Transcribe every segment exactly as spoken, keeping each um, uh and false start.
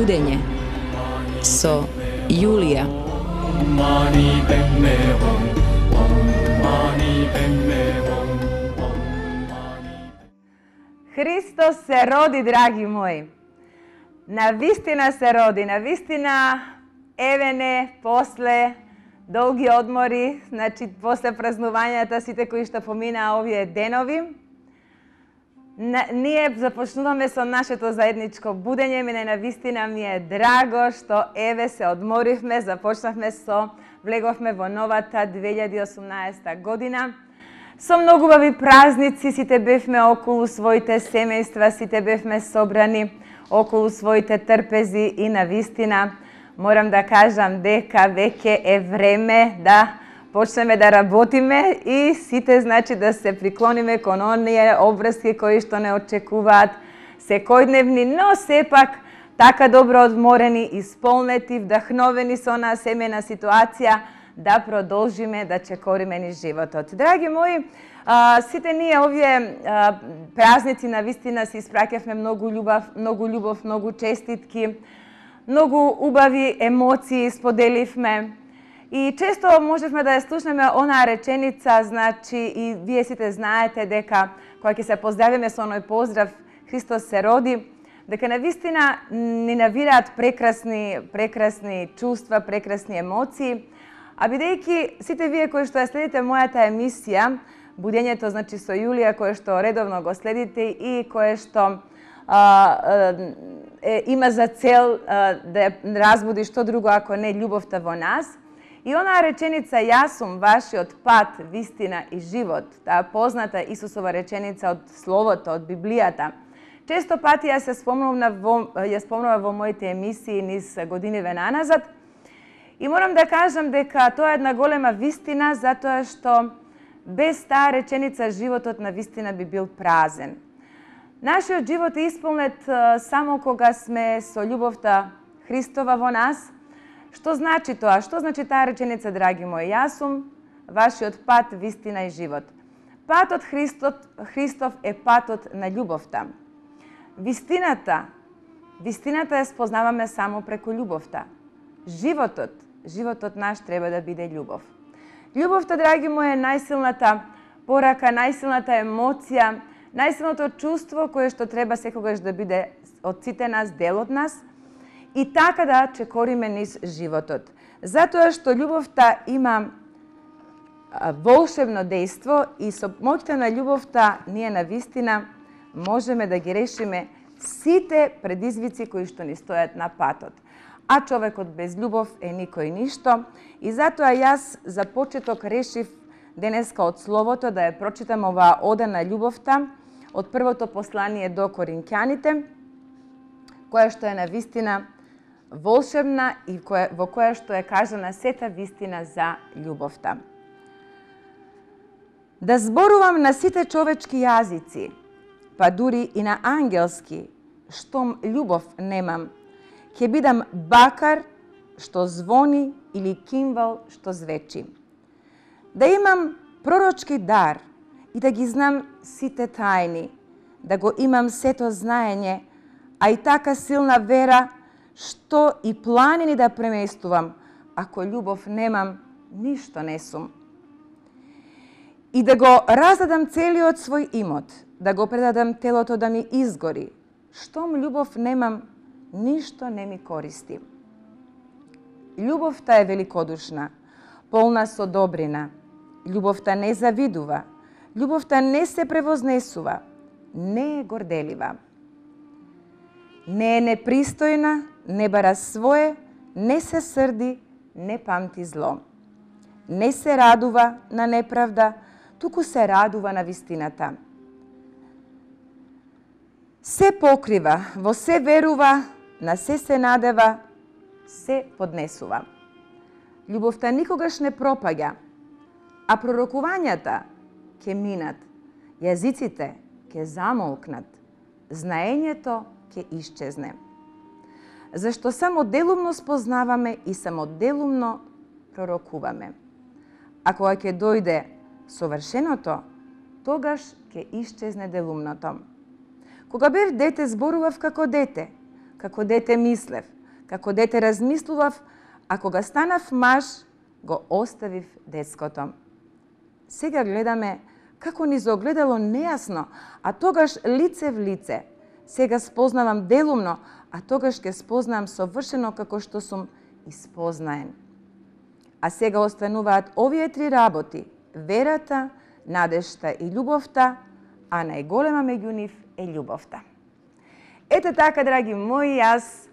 будење со Јулија. Христос се роди, драги мои. Навистина се роди, навистина евене после долги одмори, значи после празнувањата сите кои што поминаа овие денови. Ние започнуваме со нашето заедничко будење, мене навистина ми е драго што еве се одморивме, започнавме со, влеговме во новата две илјади и осумнаесета година. Со многу убави празници, сите бевме околу своите семејства, сите бевме собрани околу своите трпези и навистина морам да кажам дека веќе е време да почнеме да работиме и сите значи да се приклониме кон оние обврски кои што не очекуваат секојдневни, но сепак така добро одморени, исполнети, вдахновени со онаа семејна ситуација да продолжиме да чекориме низ животот. Драги мои, а, сите ние овие а, празници навистина си испраќавме многу љубов, многу љубов, многу честитки, многу убави емоции споделивме. И често можевме да ја слушнеме онаа реченица, значи и вие сите знаете дека кога ќе се поздравиме со оној поздрав Христос се роди, дека навистина ни навираат прекрасни, прекрасни чувства, прекрасни емоции. А бидејќи сите вие кои што ја следите мојата емисија, будењето значи со Јулија, кое што редовно го следите и кое што а, е, има за цел а, да разбуди што друго ако не љубовта во нас. И онаа реченица јас сум вашиот пат, вистина и живот, таа позната Исусова реченица од Словото, од Библијата. Често пати ја се спомнувам во, ја спомнувам во моите емисии низ годиниве наназад. И морам да кажам дека тоа е една голема вистина, затоа што без таа реченица животот на вистина би бил празен. Нашиот живот е исполнет само кога сме со љубовта Христова во нас. Што значи тоа? Што значи таа реченица, драги мои? Јас сум вашиот пат, вистина и живот. Патот Христов, Христов е патот на љубовта. Вистината, вистината ја спознаваме само преку љубовта. Животот, животот наш треба да биде љубов. Љубовта, драги мои, е најсилната порака, најсилната емоција, најсилното чувство кое што треба секогаш да биде од сите нас, дел од нас, и така да чекориме низ животот. Затоа што љубовта има волшебно дејство и со моќта на љубовта ние навистина можеме да ги решиме сите предизвици кои што ни стојат на патот. А човекот без љубов е никој ништо и затоа јас за почеток решив денеска од Словото да ја прочитам оваа ода на љубовта од првото послание до Коринќаните, која што е навистина волшебна и која, во која што е кажана сета вистина за љубовта. Да зборувам на сите човечки јазици, па дури и на ангелски, штом љубов немам, ќе бидам бакар што звони или кимвал што звечи. Да имам пророчки дар и да ги знам сите тајни, да го имам сето знаење, а и така силна вера, што и планини да преместувам, ако љубов немам, ништо не сум. И да го раздадам целиот свој имот, да го предадам телото да ми изгори, штом љубов немам, ништо не ми користи. Љубовта е великодушна, полна со добрина. Љубовта не завидува, љубовта не се превознесува, не е горделива. Не е непристојна, не бара свое, не се срди, не памти зло. Не се радува на неправда, туку се радува на вистината. Се покрива, во се верува, на се се надева, се поднесува. Љубовта никогаш не пропаѓа, а пророкувањата ќе минат, јазиците ќе замолкнат, знаењето ќе исчезне. Зашто само делумно спознаваме и само делумно пророкуваме. А кога ќе дојде совршеното, тогаш ќе исчезне делумното. Кога бев дете, зборував како дете, како дете мислев, Како дете размислував, а кога станав маж, го оставив детското. Сега гледаме како низ огледало нејасно, а тогаш лице в лице. Сега спознавам делумно, а тогаш ќе спознавам совршено како што сум испознаен. А сега остануваат овие три работи: верата, надежта и љубовта, а најголема меѓу нив е љубовта. Ете така, драги мои, јас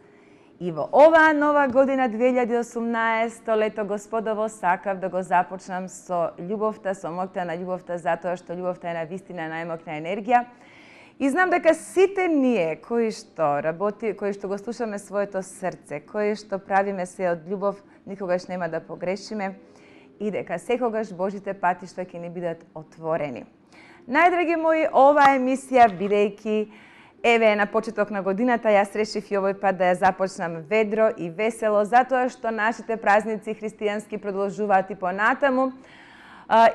и во оваа нова година две илјади и осумнаесета, лето Господово, сакав да го започнам со љубовта, со моќта на љубовта, затоа што љубовта е навистина најмоќна енергија. И знам дека сите ние кои што работи, кои што го слушаме своето срце, кои што правиме се од љубов, никогаш нема да погрешиме и дека секогаш Божите патишта ќе ни бидат отворени. Најдраги мои, оваа емисија, бидејќи еве на почеток на годината, јас решив и овој пат да ја започнам ведро и весело, затоа што нашите празници христијански продолжуваат и понатаму.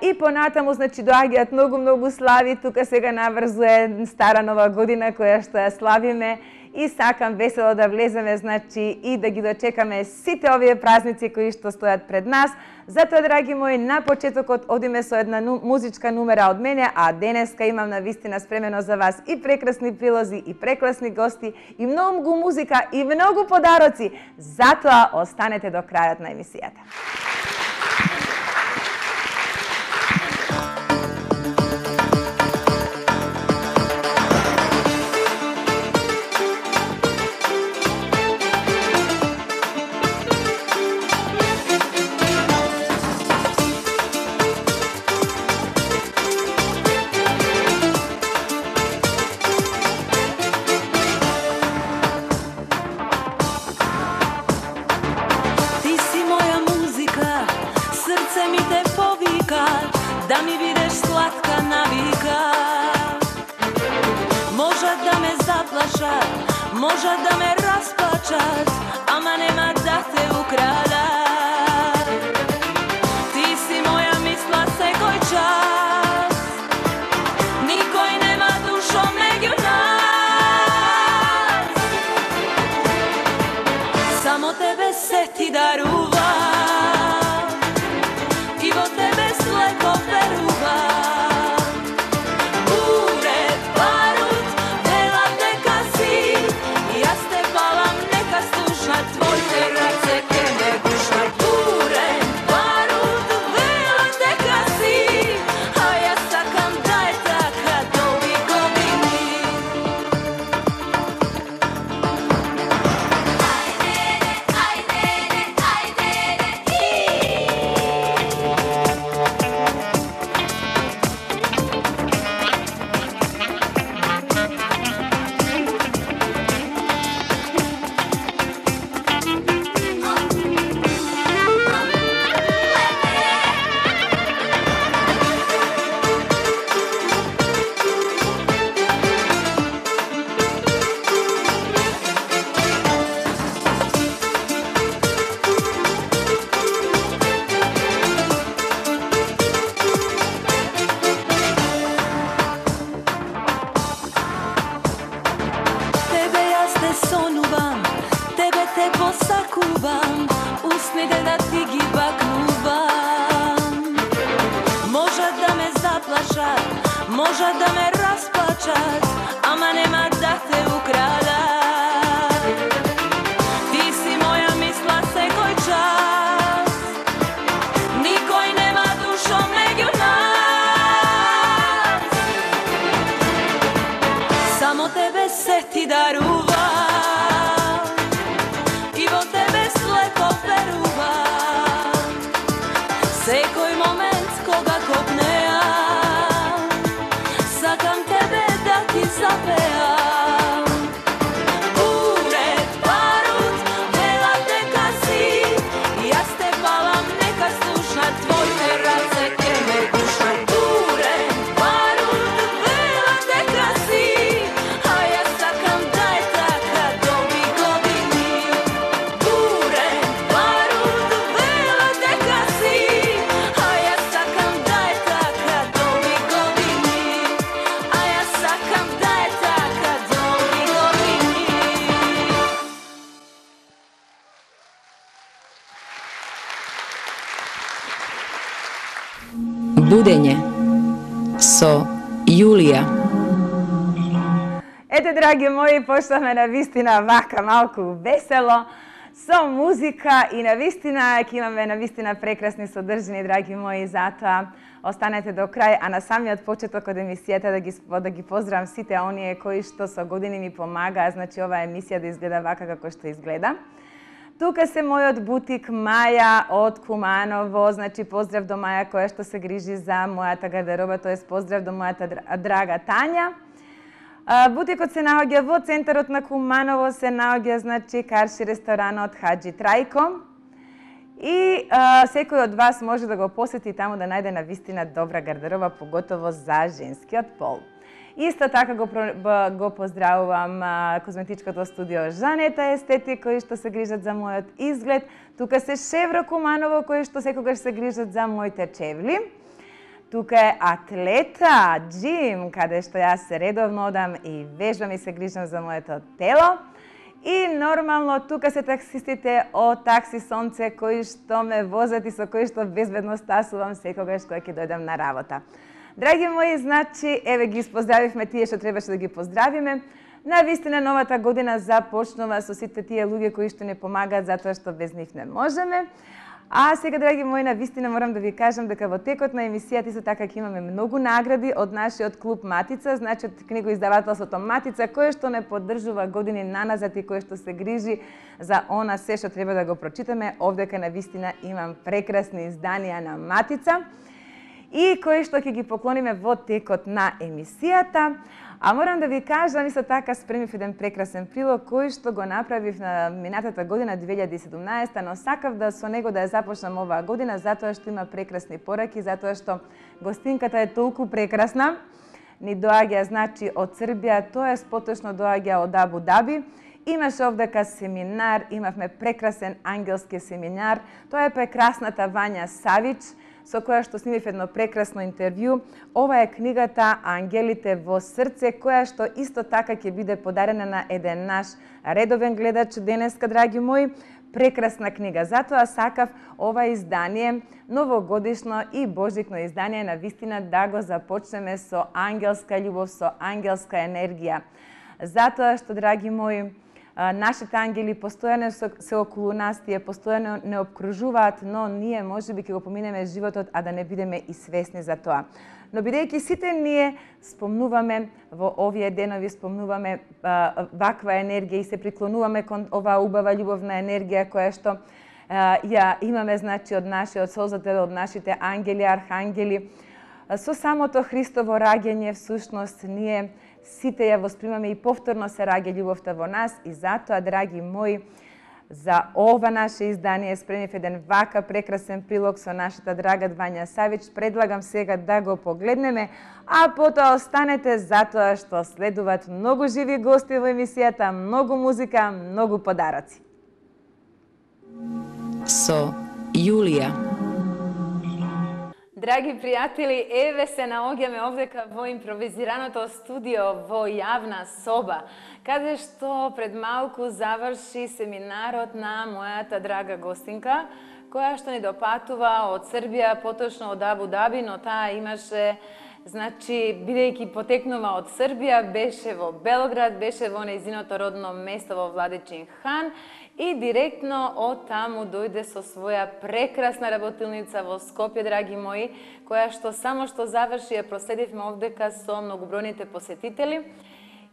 И понатаму, значи, доаѓаат многу-многу слави, тука сега наврзуе стара нова година која што ја славиме и сакам весело да влеземе, значи, и да ги дочекаме сите овие празници кои што стојат пред нас. Затоа, драги мои, на почетокот одиме со една музичка нумера од мене, а денеска имам навистина спремено за вас и прекрасни прилози, и прекрасни гости, и многу музика, и многу подароци. Затоа останете до крајот на емисијата. Да ми бидеш сладка навика, можат да ме заплашат, можат да ме расплачат, ама нема да те украдат. Ти си моја мисла секој час, никој нема душо меѓу нас. Само тебе се ти дарува, и во тебе слепо верува. Бурет, барут, велат дека си, јас те палам, нека слушат твоите раце ке ме гушат. Бурет, барут, велат дека си, а јас сакам да е така долги години. Ајде, ајде, ајде, тебе јас те сонувам, тебе те посакувам, усните да ти ги бакнувам. Можат да ме заплашат, можат да ме расплачат, ама нема да те украдат. Ти си моја мисла секој час, никој нема душо меѓу нас. Само тебе се ти дарува, и во тебе слепо верува. Секој момент кога копнеа, сакам тебе да ти запеам. Будење со Јулија. Ете, драги мои, пошламе на вистина вака малку весело, со музика и на вистина, ќе имаме на вистина прекрасни содржини, драги мои, затоа останете до крај, а на самиот почеток од емисијата да ги, да ги поздравам сите оние кои што со години ми помагаа, значи оваа емисија да изгледа вака како што изгледа. Тука се мојот бутик Маја од Куманово, значи поздрав до Маја која што се грижи за мојата гардероба, тоест поздрав до мојата драга Тања. Бутикот се наоѓа во центарот на Куманово, се наоѓа, значи, карши ресторанот Хаджи Трајко. И а, секој од вас може да го посети таму да најде на вистина добра гардероба, поготово за женскиот пол. Исто така го, го поздравувам а, козметичкото студио Жанета Естетик, кои што се грижат за мојот изглед. Тука се Шевро Куманово, кои што секогаш се грижат за моите чевли. Тука е Атлета, Джим, каде што јас редовно одам и вежбам и се грижам за моето тело. И нормално тука се таксистите од Такси Сонце, кои што ме возат и со кои што безбедно стасувам секогаш кога ќе дојдам на работа. Драги мои, значи, еве ги испоздравивме тие што требаше да ги поздравиме. На вистина новата година започнува со сите тие луѓе кои што не помагаат затоа што без нив не можеме. А сега, драги мои, на вистина морам да ви кажам дека во текот на емисијата исто така ќе имаме многу награди од нашиот клуб Матица, значи од книгоиздавателството Матица, кое што не поддржува години наназад и кое што се грижи за она се што треба да го прочитаме. Овдека на вистина имам прекрасни изданија на Матица и кои што ќе ги поклониме во текот на емисијата. А морам да ви кажам, исто така спремив еден прекрасен прилог кој што го направив на минатата година две илјади и седумнаесета, но сакав да со него да ја започнам оваа година затоа што има прекрасни пораки, затоа што гостинката е толку прекрасна. Ни доаѓа, значи, од Србија, тоа е поточно доаѓа од Абу Даби. Имаше овдека семинар, имавме прекрасен ангелски семинар. Тоа е прекрасната Вања Савич, со која што снимив едно прекрасно интервју. Ова е книгата Ангелите во срце, која што исто така ќе биде подарена на еден наш редовен гледач денеска, драги мои. Прекрасна книга. Затоа сакав ова издание, новогодишно и божикно издание, на вистина да го започнеме со ангелска љубов, со ангелска енергија. Затоа што, драги мои, нашите ангели постојано се околу нас, тие постојано не обкружуваат, но ние можеби ќе го поминеме животот, а да не бидеме и свесни за тоа. Но бидејќи сите ние спомнуваме во овие денови, спомнуваме а, ваква енергија и се приклонуваме кон оваа убава љубовна енергија која што а, ја имаме, значи, од нашиот Создател, од нашите ангели, архангели. Со самото Христово раѓање, всушност, ние сите ја воспримаме и повторно се раѓа љубовта во нас и затоа, драги мои, за ова наше издание спремив еден вака прекрасен прилог со нашата драга Вања Савич. Предлагам сега да го погледнеме, а потоа останете затоа што следуваат многу живи гости во емисијата, многу музика, многу подароци. Со Јулија. Драги пријатели, еве се наоѓаме овдека во импровизираното студио во јавна соба, каде што пред малку заврши семинарот на мојата драга гостинка, која што ни допатува од Србија, поточно од Абу Даби, но таа имаше, значи, бидејќи потекнува од Србија, беше во Белград, беше во нејзиното родно место во Владичин Хан, и директно од таму дојде со своја прекрасна работилница во Скопје, драги мои, која што само што заврши ја проследивме овдека со многобројните посетители.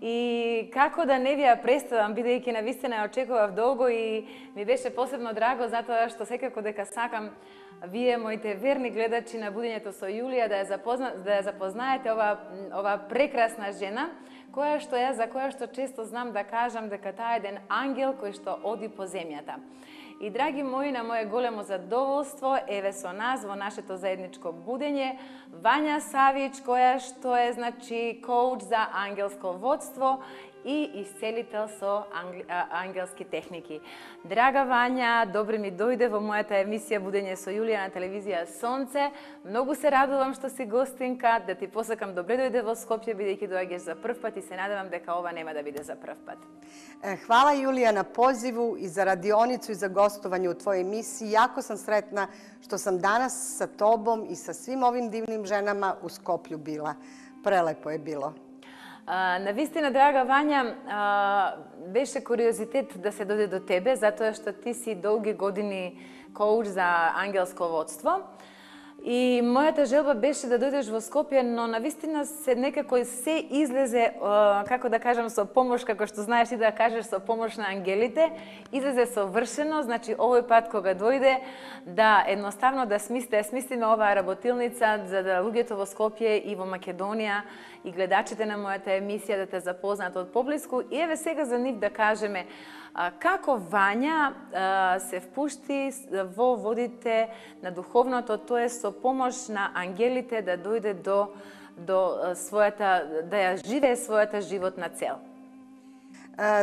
И како да не ви ја представам, бидејќи на вистина ја очекував долго и ми беше посебно драго, затоа што секако дека сакам вие, моите верни гледачи на Будењето со Јулија, да ја, запозна, да ја запознаете ова, ова прекрасна жена, која што ја, за која што често знам да кажам дека таа е еден ангел кој што оди по земјата. И, драги мои, на моje големо задоволство, еве со нас во нашето заедничко будење Вања Савич, која што е, значи, коуч за ангелско водство и исцелител со ангелски техники. Драга Вања, добре ми дојде во мојата емисија Будење со Јулија на телевизија Сонце. Многу се радувам што си гостинка, да ти посакам добре дојде во Скопје, бидејќи доаѓаш за прв пат и се надевам дека ова нема да биде за прв пат. Хвала Јулија на позиву и за радионицу и за гостување у твоје емисии. Јако сам сретна што сам данас sa тобом и sa svim ovim divnim ženama u Skoplju bila. Prelepo je bilo. Навистина, драга Вања, беше куриозитет да се дојде до тебе, затоа што ти си долги години коуч за ангелско водство. И мојата желба беше да дојдеш во Скопје, но навистина се некако се излезе, како да кажам, со помош, како што знаеш и да кажеш, со помош на ангелите, излезе совршено, значи овој пат кога дојде, да едноставно да смислите, да смислиме оваа работилница за да луѓето во Скопје и во Македонија и гледачите на мојата емисија да те запознаат од поблиску. И еве сега за нив да кажеме како Вања се впушти во водите на духовното, тоа е со помош на ангелите да дојде до, до својата, да ја живее својата животна цел.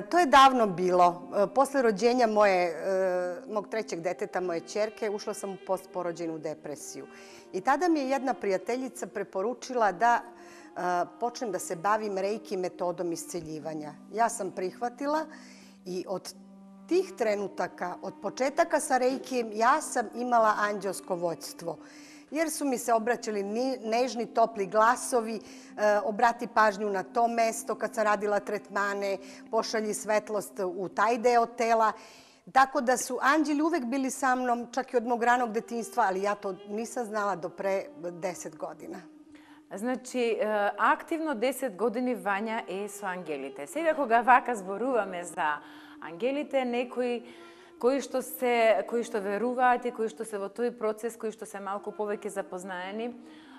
To je davno bilo. Posle rođenja moje, mog trećeg deteta, moje ćerke, ušla sam u postporođajnu depresiju. I tada mi je jedna prijateljica preporučila da počnem da se bavim reiki metodom isceljivanja. Ja sam prihvatila i od tih trenutaka, od početaka sa reikijem, ja sam imala anđelsko vođstvo. Jer su mi se obraćali nežni, topli glasovi, obrati pažnju na to mesto kad sam radila tretmane, pošalji svetlost u taj deo tela. Tako da su anđeli uvek bili sa mnom, čak i od mog ranog detinjstva, ali ja to nisam znala do pre deset godina. Значи, активно десет години Вања е со ангелите. Сега кога вака зборуваме за ангелите, некои кои што се кои што веруваат и кои што се во тој процес, кои што се малку повеќе запознаени,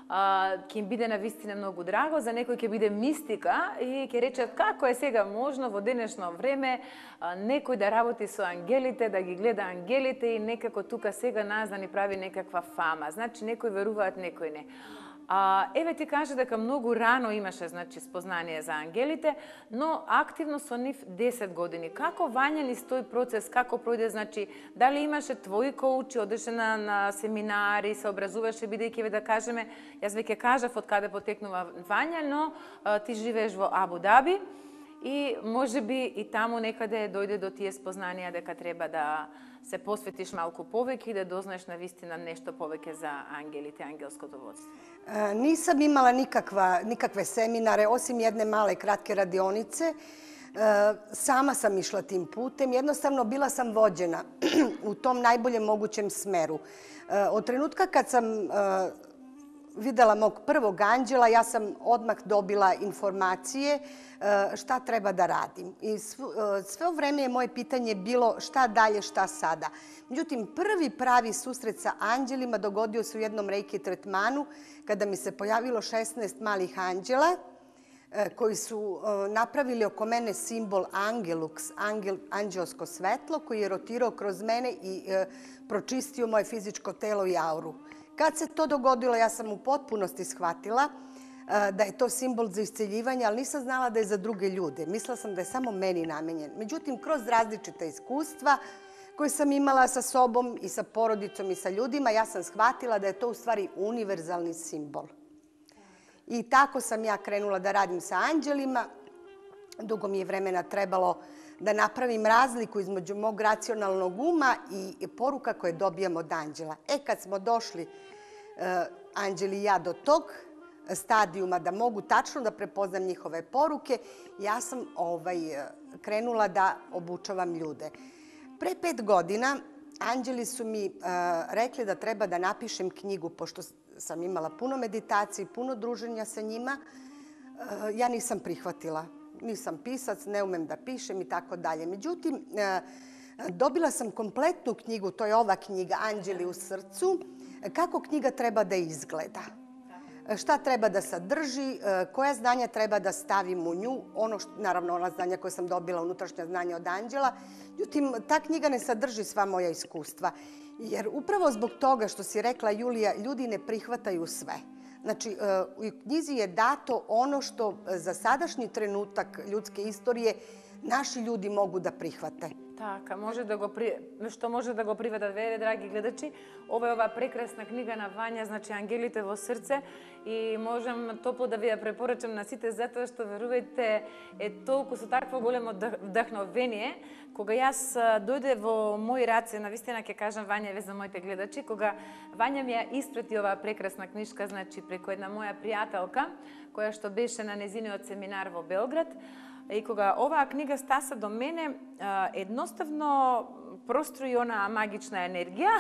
ќе им биде навистина многу драго, за некој ќе биде мистика и ќе речат како е сега можно во денешно време некој да работи со ангелите, да ги гледа ангелите и некако тука сега нас да ни прави некаква фама. Значи, некои веруваат, некои не. А, еве ти каже дека многу рано имаше, значи, спознание за ангелите, но активно со нив десет години. Како Вања низ тој процес, како пројде, значи, дали имаше твои коучи, одеше на, на семинари, се образуваше, бидејќи, да кажеме, јас веќе кажав од каде потекнува Вања, но а, ти живееш во Абу Даби и може би и таму некаде дојде до тие спознанија дека треба да се посветиш малку повеќе и да дознаеш на вистина нешто повеќе за ангелите, ангелското водство. Nisam imala nikakva, nikakve seminare, osim jedne male kratke radionice. Sama sam išla tim putem. Jednostavno bila sam vođena u tom najboljem mogućem smeru. Od trenutka kad sam videla mog prvog anđela, ja sam odmah dobila informacije šta treba da radim. I sve vreme je moje pitanje bilo šta dalje, šta sada. Međutim, prvi pravi susret sa anđelima dogodio se u jednom reiki tretmanu kada mi se pojavilo šesnaest malih anđela koji su napravili oko mene simbol Angelux, angel, anđelsko svetlo, koji je rotirao kroz mene i pročistio moje fizičko telo i auru. Kad se to dogodilo, ja sam u potpunosti shvatila da je to simbol za isceljivanje, ali nisam znala da je za druge ljude. Mislila sam da je samo meni namenjen. Međutim, kroz različita iskustva koje sam imala sa sobom i sa porodicom i sa ljudima, ja sam shvatila da je to u stvari univerzalni simbol. I tako sam ja krenula da radim sa anđelima. Dugo mi je vremena trebalo da napravim razliku između mog racionalnog uma i poruka koje dobijam od anđela. E, kad smo došli, anđeli i ja, do tog stadijuma da mogu tačno da prepoznam njihove poruke, ja sam ovaj, krenula da obučavam ljude. Pre pet godina anđeli su mi uh, rekli da treba da napišem knjigu, pošto sam imala puno meditacije i puno druženja sa njima. Uh, ja nisam prihvatila. Nisam pisac, ne umem da pišem i tako dalje. Međutim, uh, dobila sam kompletnu knjigu, to je ova knjiga Anđeli u srcu, kako knjiga treba da izgleda. Šta treba da sadrži, koja znanja treba da stavim u nju, ono što, naravno ona znanja koje sam dobila, unutrašnja znanja od anđela. Međutim, ta knjiga ne sadrži sva moja iskustva. Jer upravo zbog toga što si rekla, Julija, ljudi ne prihvataju sve. Znači, u knjizi je dato ono što za sadašnji trenutak ljudske istorije naši ljudi mogu da prihvate. Така, може да го при... што може да го приведат ве, драги гледачи. Ова е ова прекрасна книга на Вања, значи Ангелите во срце, и можам топло да ви ја препорачам на сите затоа што верувајте е толку со такво големо вдахновение. Кога јас дојде во мои раце, навистина ќе кажам Вања ве за моите гледачи, кога Вања ми ја испрати оваа прекрасна книжка, значи преку една моја пријателка, која што беше на незиниот семинар во Белград. И кога оваа книга стаса до мене, едноставно прострои она магична енергија.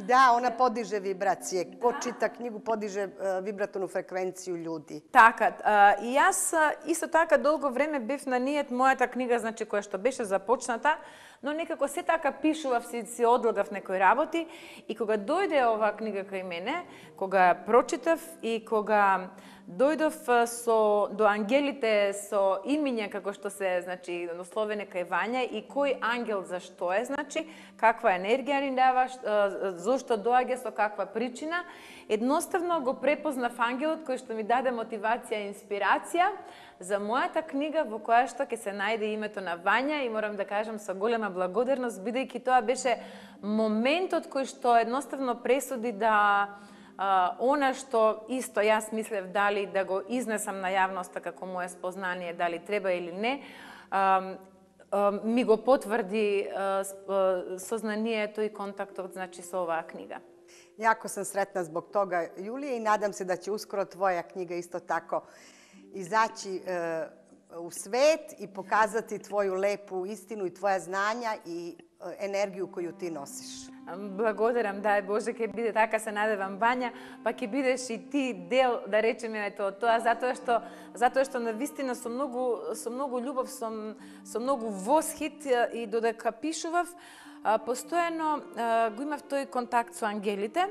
Да, она подиже вибрације. Ко чита книгу, подиже вибратону фреквенцију људи. Така, и јас исто така долго време бев на ниет мојата книга, значи која што беше започната, но некако се така пишував, си, си одлагав некои работи, и кога дојде оваа книга кај мене, кога ја прочитав и кога дојдов со до ангелите со имиња како што се, значи, насловени кај Вања, и кој ангел зашто е, значи, каква енергија ни дава, зошто доаѓа, со каква причина, едноставно го препознав ангелот кој што ми даде мотивација и инспирација за мојата книга во која што ќе се најде името на Вања, и морам да кажам со голема благодарност, бидејќи тоа беше моментот кој што едноставно пресуди да Uh, она што исто јас мислев дали да го изнесам на јавноста како моје спознание, дали треба или не, uh, uh, ми го потврди uh, сознанието и контактот, значи, со оваа книга. Јако сам сретна због тога, Јулија, и надам се да ќе ускоро твоја книга исто тако изаći uh, u svet i pokazati tvoju lepu istinu i tvoja znanja i енергiju koju ti nosiš. Благодарам, дај Боже, ќе биде така, се надевам, Вања, па ќе бидеш и ти дел, да речеме, ето тоа, затоа што затоа што навистина со многу со многу љубов, со со многу восхит, и додека пишував, постојано го имав тој контакт со ангелите.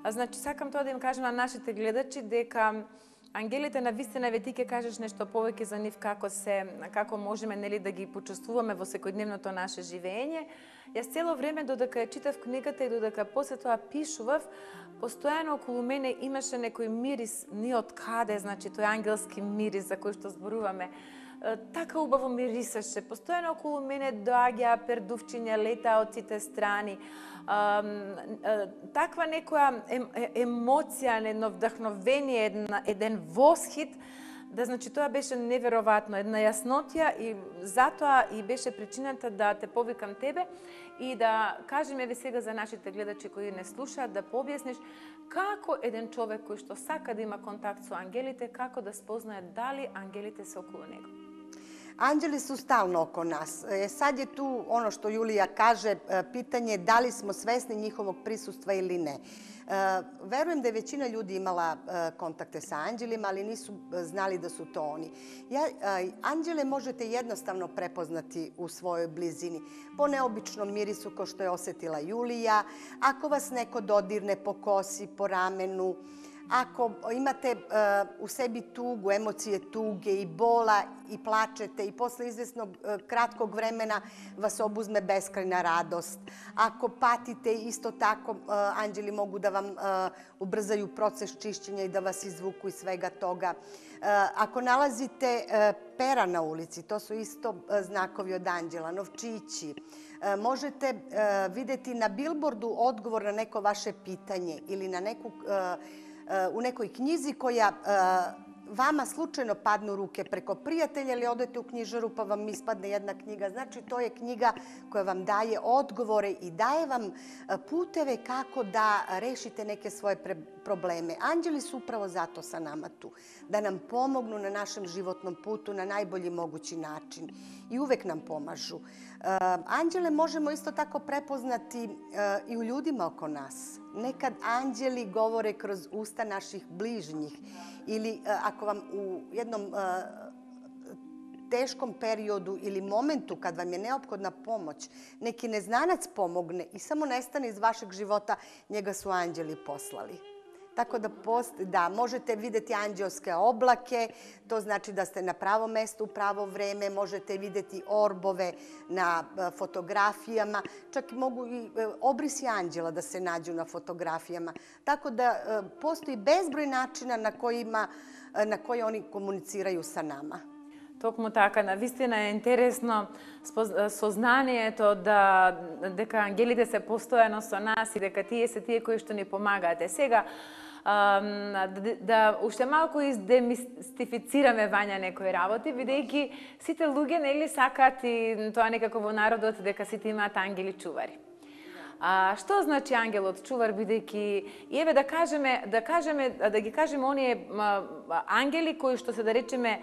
Значи, сакам тоа да им кажам на нашите гледачи дека ангелите навистина, ве ти ќе кажеш нешто повеќе за нив, како се, како можеме, нели, да ги почувствуваме во секојдневното наше живење. Јас цело време додека ја читав книгата и додека после тоа пишував, постојано околу мене имаше некој мирис, ни од каде, значи тој ангелски мирис за кој што зборуваме. Така убаво мирисаше. Постојано околу мене доаѓаа пердувчиња, летаа од сите страни. Таква некоја емоција, едно вдахновение, еден восхит, да, значи, тоа беше неверојатно, една јаснотија, и затоа и беше причината да те повикам тебе и да кажеме ве сега за нашите гледачи кои не слушаат, да пообјасниш како еден човек кој што сака да има контакт со ангелите, како да спознае дали ангелите се околу него. Anđeli su stalno oko nas. E, sad je tu ono što Julija kaže, pitanje da li smo svesni njihovog prisustva ili ne. E, verujem da je većina ljudi imala e, kontakte sa anđelima, ali nisu znali da su to oni. Ja, e, anđele možete jednostavno prepoznati u svojoj blizini. Po neobičnom mirisu kao što je osetila Julija, ako vas neko dodirne po kosi, po ramenu, ako imate uh, u sebi tugu, emocije tuge i bola i plačete i posle izvesnog uh, kratkog vremena vas obuzme beskrajna radost. Ako patite, isto tako uh, anđeli mogu da vam uh, ubrzaju proces čišćenja i da vas izvuku iz svega toga. Uh, ako nalazite uh, pera na ulici, to su isto uh, znakovi od anđela, novčići. Uh, možete uh, videti na bilbordu odgovor na neko vaše pitanje ili na neku uh, u nekoj knjizi koja vama slučajno padne u ruke preko prijatelja ili odete u knjižaru pa vam ispadne jedna knjiga. Znači, to je knjiga koja vam daje odgovore i daje vam puteve kako da rešite neke svoje probleme. Anđeli su upravo zato sa nama tu, da nam pomognu na našem životnom putu na najbolji mogući način i uvek nam pomažu. Anđele možemo isto tako prepoznati i u ljudima oko nas. Nekad anđeli govore kroz usta naših bližnjih ili ako vam u jednom teškom periodu ili momentu kad vam je neophodna pomoć, neki neznanac pomogne i samo nestane iz vašeg života, njega su anđeli poslali. Tako da, post, da, možete videti anđelske oblake, to znači da ste na pravo mesto u pravo vreme, možete videti orbove na fotografijama, čak mogu i obrisi anđela da se nađu na fotografijama. Tako da postoji bezbroj načina na, kojima, na koje oni komuniciraju sa nama. Токму така, навистина е интересно сознанието да дека ангелите се постојано со нас и дека тие се тие кои што ни помагаат. Сега да, да уште малку издемистифицираме Вања некои работи, бидејќи сите луѓе нели сакаат и тоа некако во народот дека сите имаат ангели чувари. А што значи ангелот чувар, бидејќи и еве да кажеме, да кажеме, да ги кажеме оние ангели кои што се да речеме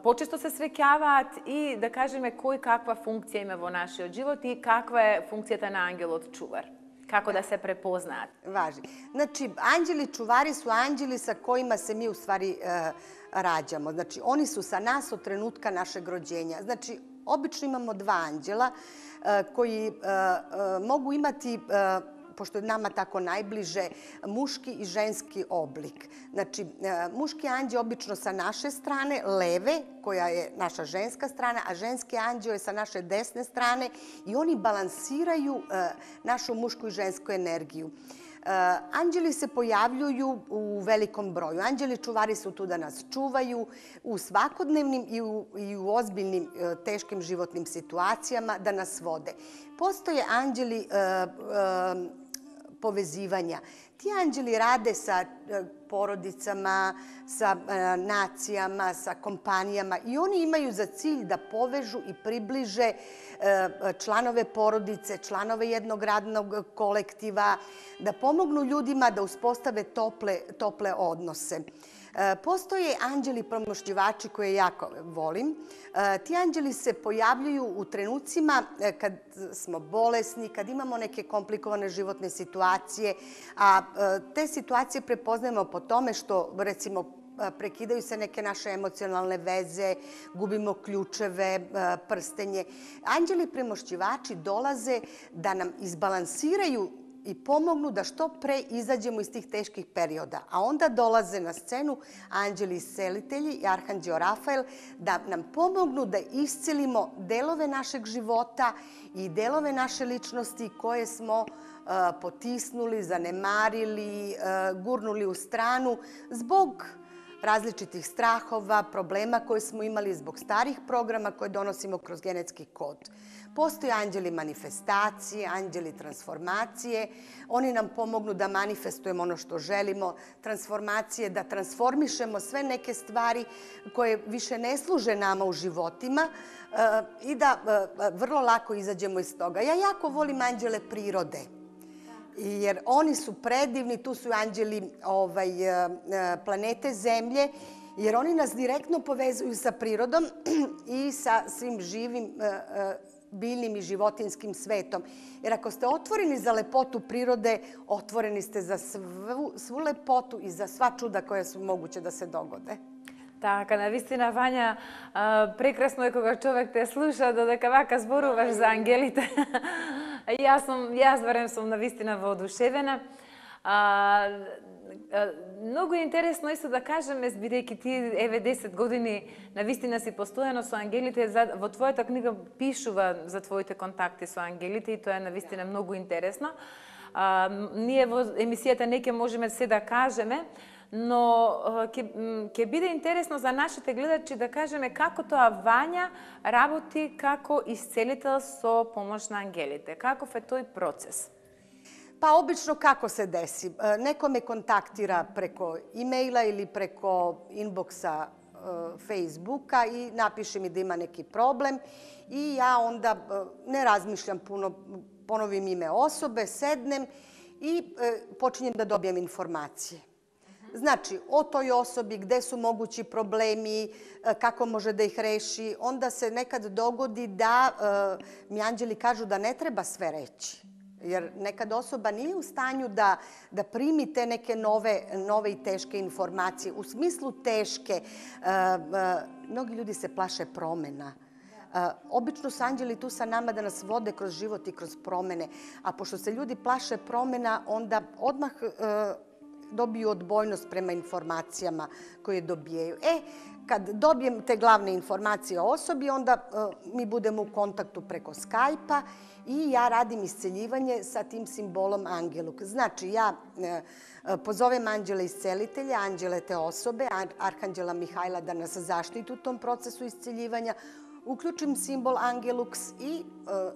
почесто се среќаваат и да кажеме кој каква функција има во нашиот живот и каква е функцијата на ангелот чувар. Како да се препознаат? Важи. Значи, анđeli čuvari su anđeli sa kojima se mi u stvari e, rađamo. Znači, oni su sa nas od trenutka našeg rođenja. Znači, obično imamo dva anđela e, koji e, e, mogu imati, e, pošto je nama tako najbliže, muški i ženski oblik. Znači, e, muški anđeo obično sa naše strane, leve, koja je naša ženska strana, a ženski anđeo je sa naše desne strane i oni balansiraju e, našu mušku i žensku energiju. Anđeli se pojavljuju u velikom broju. Anđeli čuvari su tu da nas čuvaju u svakodnevnim i u, i u ozbiljnim teškim životnim situacijama, da nas vode. Postoje anđeli e, e, povezivanja. Ti anđeli rade sa porodicama, sa e, nacijama, sa kompanijama i oni imaju za cilj da povežu i približe e, članove porodice, članove jednog radnog kolektiva, da pomognu ljudima da uspostave tople, tople odnose. Postoje anđeli pomoćnivači koje jako volim. Ti anđeli se pojavljuju u trenucima kad smo bolesni, kad imamo neke komplikovane životne situacije, a te situacije prepoznajemo po tome što, recimo, prekidaju se neke naše emocionalne veze, gubimo ključeve, prstenje. Anđeli premošćivači dolaze da nam izbalansiraju i pomognu da što pre izađemo iz tih teških perioda. A onda dolaze na scenu anđeli iscelitelji i arhanđeo Rafael da nam pomognu da iscelimo delove našeg života i delove naše ličnosti koje smo uh, potisnuli, zanemarili, uh, gurnuli u stranu zbog različitih strahova, problema koje smo imali zbog starih programa koje donosimo kroz genetski kod. Postoje anđeli manifestacije, anđeli transformacije. Oni nam pomognu da manifestujemo ono što želimo, transformacije, da transformišemo sve neke stvari koje više ne služe nama u životima i da vrlo lako izađemo iz toga. Ja jako volim anđele prirode. Jer oni su predivni, tu su anđeli ovaj, planete Zemlje, jer oni nas direktno povezuju sa prirodom i sa svim živim biljnim i životinskim svetom. Jer ako ste otvoreni za lepotu prirode, otvoreni ste za svu, svu lepotu i za sva čuda koja su moguće da se dogode. Така, навистина, Вања, прекрасно е кога човек те слуша, додека вака зборуваш за ангелите. Јас сум, јас барем сум навистина воодушевена. А, а, многу е интересно исто да кажеме, бидејќи ти еве десет години навистина си постојано со ангелите, во твојата книга пишува за твоите контакти со ангелите и тоа е навистина многу интересно. А, ние во емисијата не ќе можеме се да кажеме, но ќе, ќе биде интересно за нашите гледачи да кажеме како тоа Вања работи како исцелител со помош на ангелите. Каков е тој процес? Pa obično kako se desi? Neko me kontaktira preko e-maila ili preko inboxa Facebooka i napiše mi da ima neki problem i ja onda ne razmišljam puno, ponovim ime osobe, sednem i počinjem da dobijam informacije. Znači, o toj osobi, gde su mogući problemi, kako može da ih reši. Onda se nekad dogodi da mi anđeli kažu da ne treba sve reći. Jer nekad osoba nije u stanju da, da primi te neke nove, nove i teške informacije. U smislu teške, mnogi ljudi se plaše promena. Obično su anđeli tu sa nama da nas vode kroz život i kroz promene. A pošto se ljudi plaše promena, onda odmah dobiju odbojnost prema informacijama koje dobijaju. E, kad dobijem te glavne informacije o osobi, onda uh, mi budemo u kontaktu preko Skype-a i ja radim isceljivanje sa tim simbolom Angeluk. Znači, ja uh, pozovem anđele iscelitelja, anđele te osobe, Arhanđela Mihajla da nas zaštiti u tom procesu isceljivanja, uključim simbol Angelux i uh,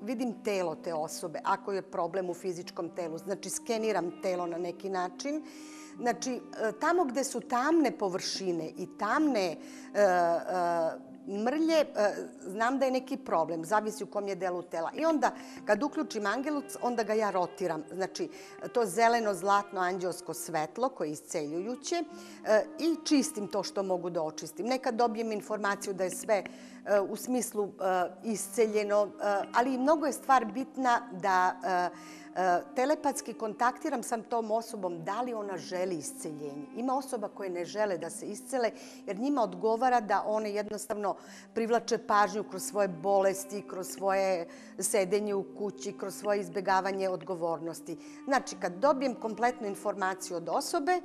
vidim telo te osobe, ako je problem u fizičkom telu. Znači, skeniram telo na neki način. Znači, tamo gde su tamne površine i tamne e, e, mrlje, e, znam da je neki problem, zavisi u kom je delu tela. I onda, kad uključim Angelux, onda ga ja rotiram. Znači, to zeleno, zlatno, anđelsko svetlo koje je isceljujuće e, i čistim to što mogu da očistim. Nekad dobijem informaciju da je sve e, u smislu e, isceljeno, e, ali mnogo je stvar bitna da e, telepatski kontaktiram sam tom osobom da li ona želi isceljenje. Ima osoba koje ne žele da se iscele jer njima odgovara da one jednostavno privlače pažnju kroz svoje bolesti, kroz svoje sedenje u kući, kroz svoje izbjegavanje odgovornosti. Znači, kad dobijem kompletnu informaciju od osobe,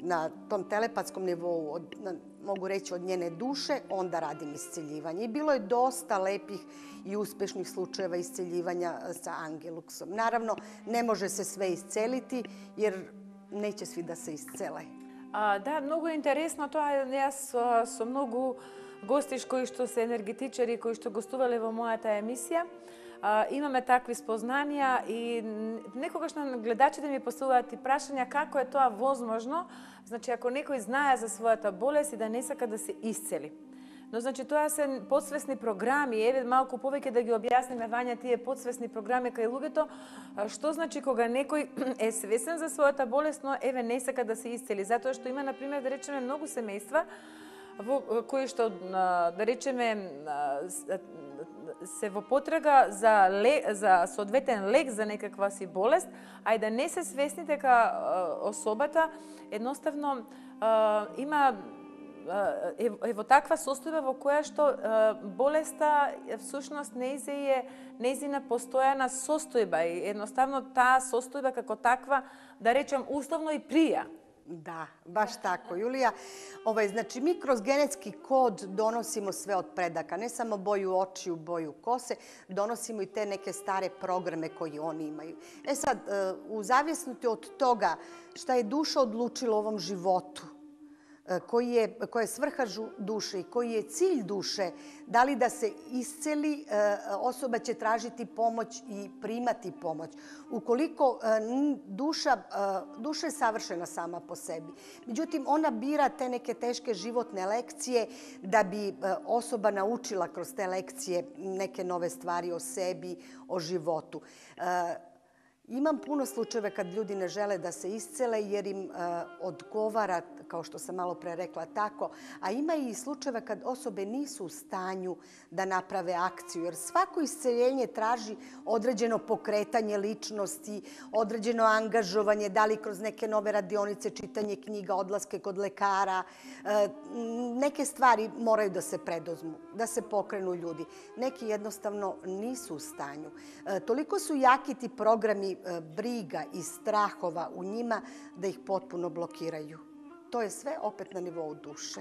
na tom telepatskom nivou, od, na, mogu reći od njene duše, onda radim isceljivanje. I bilo je dosta lepih i uspešnih slučajeva isceljivanja sa Angeluxom. Naravno, ne može se sve isceliti jer neće svi da se iscele. А, да, многу интересно тоа. Јас со, со многу гости кои што се енергетичари, кои што гостувале во мојата емисија, а, имаме такви спознанија и некогаш на гледачите ми поставуваат и прашања како е тоа возможно, значи ако некој знае за својата болест и да не сака да се исцели. Но значи тоа се подсвесни програми, еве малку повеќе да ги објасниме Вања тие подсвесни програми кај луѓето, што значи кога некој е свесен за својата болест, но еве не сака да се исцели, затоа што има на пример да речеме многу семејства во кои што да речеме се во потрага за лек, за соодветен лек за некаква си болест, а и да не се свесни дека особата едноставно има е, е во таква состојба во која што болеста всушност нејзе е нејзина постојана состојба и едноставно таа состојба како таква, да речем, условно и прија. Da, baš tako, Julija. Ovaj, znači, mi kroz genetski kod donosimo sve od predaka, ne samo boju očiju, boju kose, donosimo i te neke stare programe koje oni imaju. E sad, u zavisnosti od toga šta je duša odlučila u ovom životu, koji je, koja je svrha duše i koji je cilj duše, da li da se isceli, osoba će tražiti pomoć i primati pomoć. Ukoliko duša, duša je savršena sama po sebi, međutim ona bira te neke teške životne lekcije da bi osoba naučila kroz te lekcije neke nove stvari o sebi, o životu. Imam puno slučajeva kad ljudi ne žele da se iscele jer im uh, odgovara, kao što sam malo pre rekla, tako. A ima i slučajeva kad osobe nisu u stanju da naprave akciju. Jer svako isceljenje traži određeno pokretanje ličnosti, određeno angažovanje, da li kroz neke nove radionice, čitanje knjiga, odlaske kod lekara. Uh, neke stvari moraju da se preduzmu, da se pokrenu ljudi. Neki jednostavno nisu u stanju. Uh, toliko su jaki ti programi briga i strahova u njima da ih potpuno blokiraju. To je sve opet na nivou duše.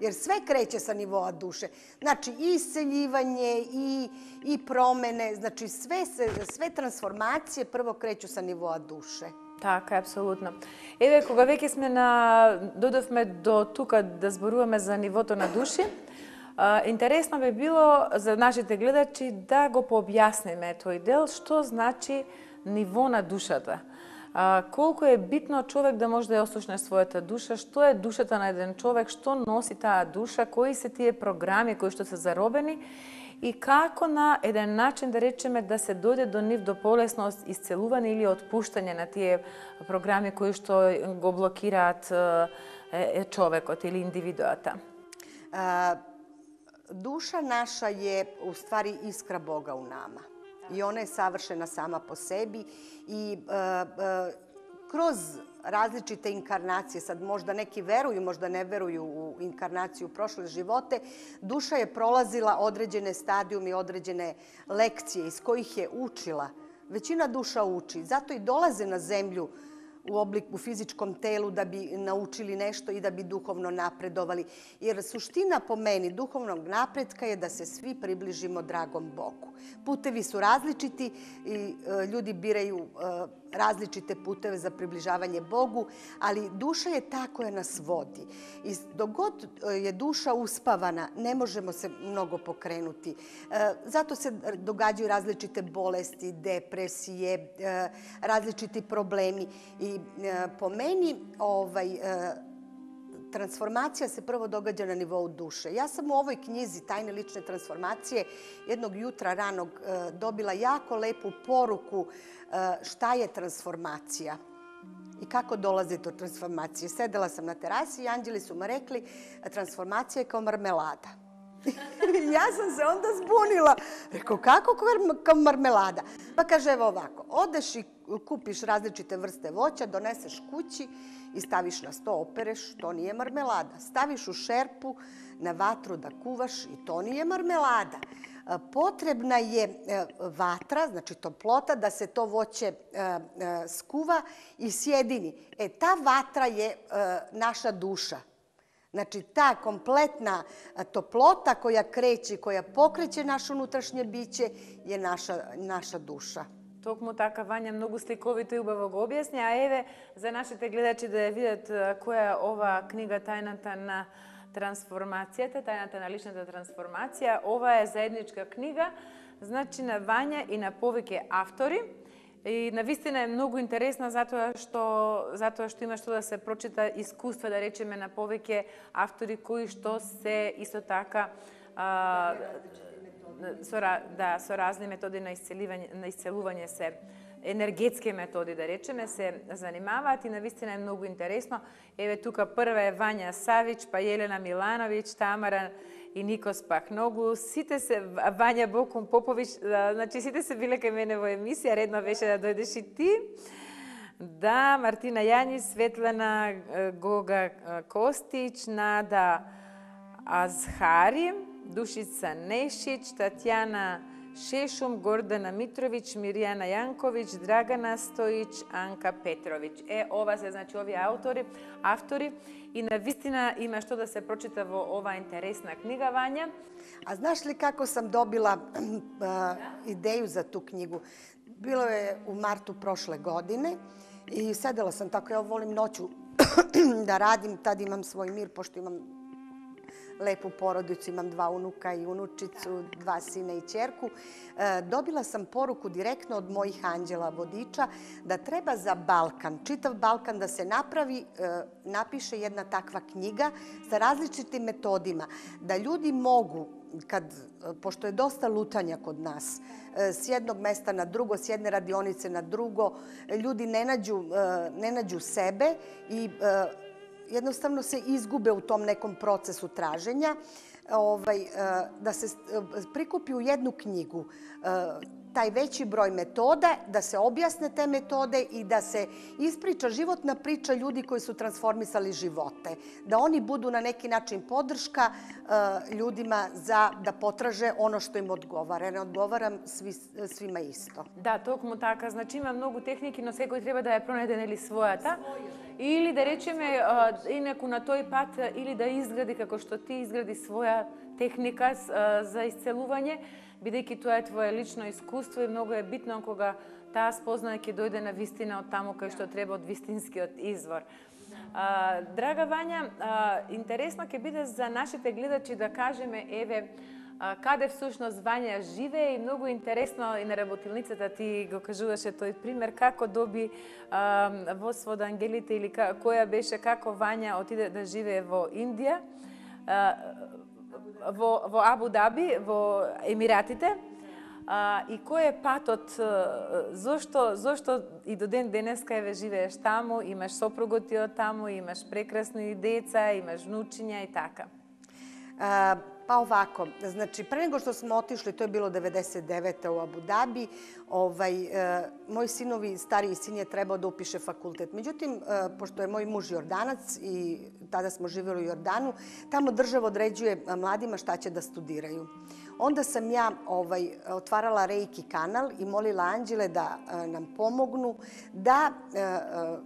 Jer sve kreće sa nivoa duše. Znači i isceljivanje i, i promene, znači sve, sve transformacije prvo kreću sa nivoa duše. Така, апсолутно. Еве, кога веќе сме на додовме до тука да зборуваме за нивото на души, интересно би било за нашите гледачи да го пообјасниме тој дел, што значи ниво на душата. А, колку е битно човек да може да ја ослушне својата душа, што е душата на еден човек, што носи таа душа, кои се тие програми кои што се заробени и како на еден начин, да речеме, да се дојде до нив до полесно исцелување или отпуштање на тие програми кои што го блокираат е, човекот или индивидуата. А... Duša naša je u stvari iskra Boga u nama i ona je savršena sama po sebi i e, e, kroz različite inkarnacije, sad možda neki veruju, možda ne veruju u inkarnaciju u prošle živote, duša je prolazila određene stadijume i određene lekcije iz kojih je učila. Većina duša uči, zato i dolaze na zemlju u obliku u fizičkom telu da bi naučili nešto i da bi duhovno napredovali. Jer suština po meni duhovnog napretka je da se svi približimo dragom Bogu. Putevi su različiti i ljudi biraju različite puteve za približavanje Bogu, ali duša je ta koja nas vodi. I dok god je duša uspavana, ne možemo se mnogo pokrenuti. Zato se događaju različite bolesti, depresije, različiti problemi. I po meni ovaj, transformacija se prvo događa na nivou duše. Ja sam u ovoj knjizi Tajne lične transformacije jednog jutra ranog dobila jako lepu poruku šta je transformacija i kako dolazi do transformacije. Sedela sam na terasi i anđeli su mi rekli transformacija je kao marmelada. Ja sam se onda zbunila. Rekao, kako kao marmelada? Pa kaže, evo ovako, odeš i kupiš različite vrste voća, doneseš kući i staviš na sto, opereš, to nije marmelada. Staviš u šerpu na vatru da kuvaš i to nije marmelada. Potrebna je vatra, znači toplota, da se to voće skuva i sjedini. E, ta vatra je naša duša. Znači, ta kompletna toplota koja kreće, koja pokreće naše unutrašnje biće je naša, naša duša. Токму така Вања многу сликовито и убаво го објасни, а еве за нашите гледачи да ја видат која е ова книга Тајната на трансформацијата, Тајната на личната трансформација. Ова е заедничка книга, значи на Вања и на повеќе автори. И навистина е многу интересна затоа што затоа што има што да се прочита искуства, да речеме, на повеќе автори кои што се исто така а, со, да, со разни методи на исцелување, на исцелување се, енергетски методи, да речеме, се занимаваат и навистина е многу интересно. Еве тука прва е Вања Савич, па Јелена Милановиќ, Тамара и Никос Пахногу. Сите се, Вања Бокум Поповиќ, значи сите се биле кај мене во емисија, редно беше да дојдеш и ти. Да, Мартина Јанис, Светлана Гога Костич, Нада Азхари, Душица Нешич, Татјана Шешум, Гордана Митровиќ, Мирјана Јанковиќ, Драгана Стоиќ, Анка Петровиќ. Е, ова се, значи, овие автори, автори и навистина има што да се прочита во ова интересна книга, Вања. A znaš li kako sam dobila uh, ideju za tu knjigu? Bilo je u martu prošle godine i sedela sam tako, ja volim noću da radim, tad imam svoj mir, pošto imam lepu porodicu, imam dva unuka i unučicu, dva sina i ćerku. Dobila sam poruku direktno od mojih anđela vodiča da treba za Balkan, čitav Balkan da se napravi, napiše jedna takva knjiga sa različitim metodima, da ljudi mogu, kad, pošto je dosta lutanja kod nas, s jednog mesta na drugo, s jedne radionice na drugo, ljudi ne nađu, ne nađu sebe i jednostavno se izgube u tom nekom procesu traženja, ovaj, da se prikupi u jednu knjigu taj veći broj metoda, da se objasne te metode i da se ispriča životna priča ljudi koji su transformisali živote. Da oni budu na neki način podrška ljudima za da potraže ono što im odgovara. Ne odgovaram svi, svima isto. Да, токму така. Значи има многу техники, но секој треба да ја пронајде нели својата. Или да речеме инаку на тој пат, или да изгради како што ти изгради своја техника за исцелување, бидејќи тоа е твое лично искуство и многу е битно кога таа спознаја ќе дојде на вистина од таму кај што треба, од вистинскиот извор. А, драга Вања, а, интересно ќе биде за нашите гледачи да кажеме, еве, а, каде всушност Вања живее и многу интересно и на работилницата ти го кажуваше тој пример, како доби а, воз од ангелите или ка, која беше, како Вања отиде да живее во Индија, а, во, во Абу Даби, во Емиратите, а, и кој е патот, зошто, зошто и до ден денеска еве живееш таму, имаш сопругот ти од таму, имаш прекрасни деца, имаш внучиња и така? A, Pa ovako, znači pre nego što smo otišli, to je bilo devedeset devete u Abu Dhabi, ovaj, e, moji sinovi, stariji sin je trebao da upiše fakultet. Međutim, e, pošto je moj muž Jordanac i tada smo živjeli u Jordanu, tamo država određuje mladima šta će da studiraju. Onda sam ja ovaj, otvarala Reiki kanal i molila anđele da e, nam pomognu da e, e,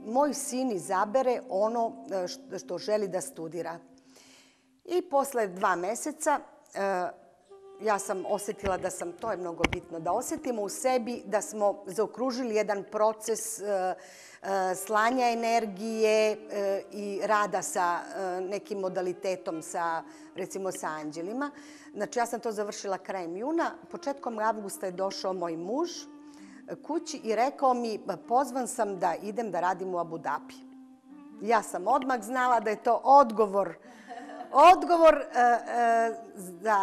moj sin izabere ono što, što želi da studira. I posle dva meseca e, ja sam osjetila da sam, to je mnogo bitno, da osjetimo u sebi da smo zaokružili jedan proces e, e, slanja energije e, i rada sa e, nekim modalitetom, sa, recimo sa anđelima. Znači ja sam to završila krajem juna. Početkom avgusta je došao moj muž kući i rekao mi, pozvan sam da idem da radim u Abu Dhabi. Ja sam odmah znala da je to odgovor Odgovor e, e, za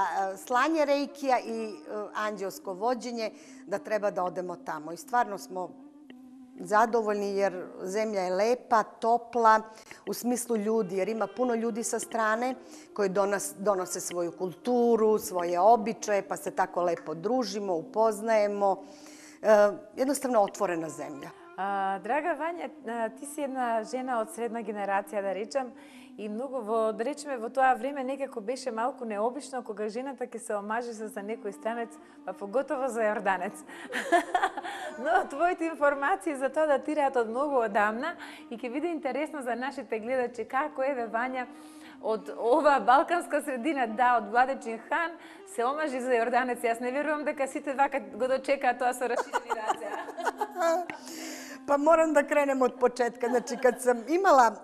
slanje reikija i e, anđelsko vođenje da treba da odemo tamo. I stvarno smo zadovoljni jer zemlja je lepa, topla u smislu ljudi, jer ima puno ljudi sa strane koji donos, donose svoju kulturu, svoje običaje, pa se tako lepo družimo, upoznajemo. E, jednostavno otvorena zemlja. А, драга Вања, ти си една жена од средна генерација, да речам, и многу во, да речеме, во тоа време некако беше малку необично кога жената ќе се омажи за некој странец, па поготово за јорданец. Но твоите информации за тоа датираат од многу одамна и ќе биде интересно за нашите гледачи како еве Вања од ова балканска средина, да, од Владечин хан, се омажи за јорданец. Јас не верувам дека сите вака го дочекаат тоа со раширени раце. Pa moram da krenem od početka. Znači, kad sam imala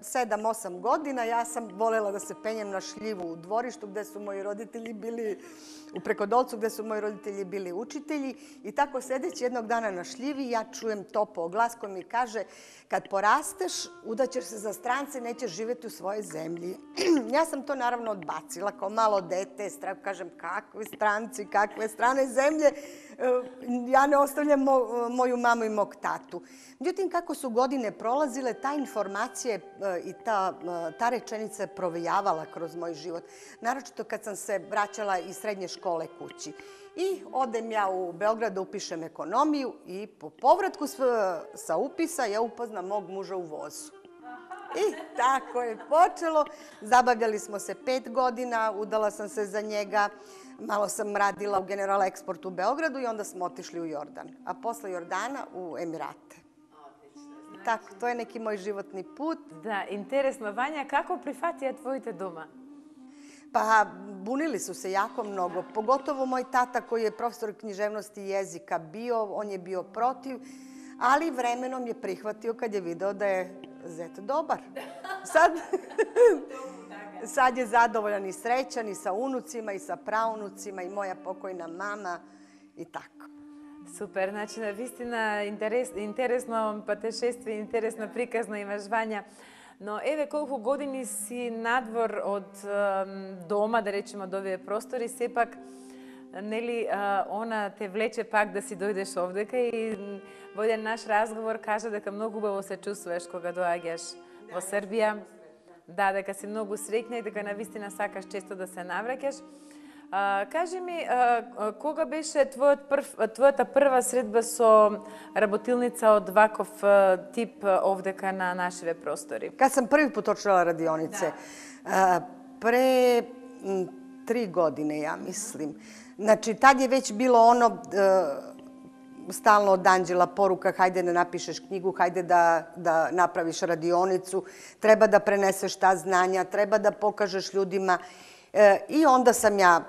sedam osam godina, ja sam volela da se penjem na šljivu u dvorištu gde su moji roditelji bili, u Prekodolcu gde su moji roditelji bili učitelji. I tako sedeći jednog dana na šljivi, ja čujem topao glas koji mi kaže kad porasteš, udaćeš se za strance, nećeš živjeti u svojoj zemlji. Ja sam to naravno odbacila kao malo dete, kažem kakve stranci, kakve strane zemlje. Ja ne ostavljam mo, moju mamu i mog tatu. Međutim, kako su godine prolazile, ta informacija i ta, ta rečenica je provejavala kroz moj život. Naročito kad sam se vraćala iz srednje škole kući. I odem ja u Beograd da upišem ekonomiju i po povratku sa upisa ja upoznam mog muža u vozu. I tako je počelo. Zabavljali smo se pet godina, udala sam se za njega. Malo sam radila u General Export u Beogradu i onda smo otišli u Jordan. A posle Jordana u Emirate. Tako, to je neki moj životni put. Da, interesno. Vanja, kako prihvatija tvojite doma? Pa bunili su se jako mnogo. Pogotovo moj tata koji je profesor književnosti i jezika bio, on je bio protiv, ali vremenom je prihvatio kad je video da je zet dobar. Sad, sad je zadovoljan i srećan i sa unucima i sa praunucima i moja pokojna mama i tako. Супер, значи навистина интерес, интересно патешествие, интересно приказно имаш, Вања. Но еве колку години си надвор од дома, да речеме од овие простори, сепак нели она те влече пак да си дојдеш овдека и во еден наш разговор кажа дека многу убаво се чувствуваш кога доаѓаш во Србија. Да, дека си многу среќна и дека навистина сакаш често да се навраќаш. А, кажи ми, а, кога беше твојот прв, твојата прва средба со работилница од ваков тип овдека на нашиве простори? Kad sam prvi put očela radionice, a, pre m, tri godine, ja mislim. Znači, tad je već bilo ono a, stalno od anđela poruka, hajde da napišeš knjigu, hajde da, da napraviš radionicu, treba da preneseš ta znanja, treba da pokažeš ljudima. E, I onda sam ja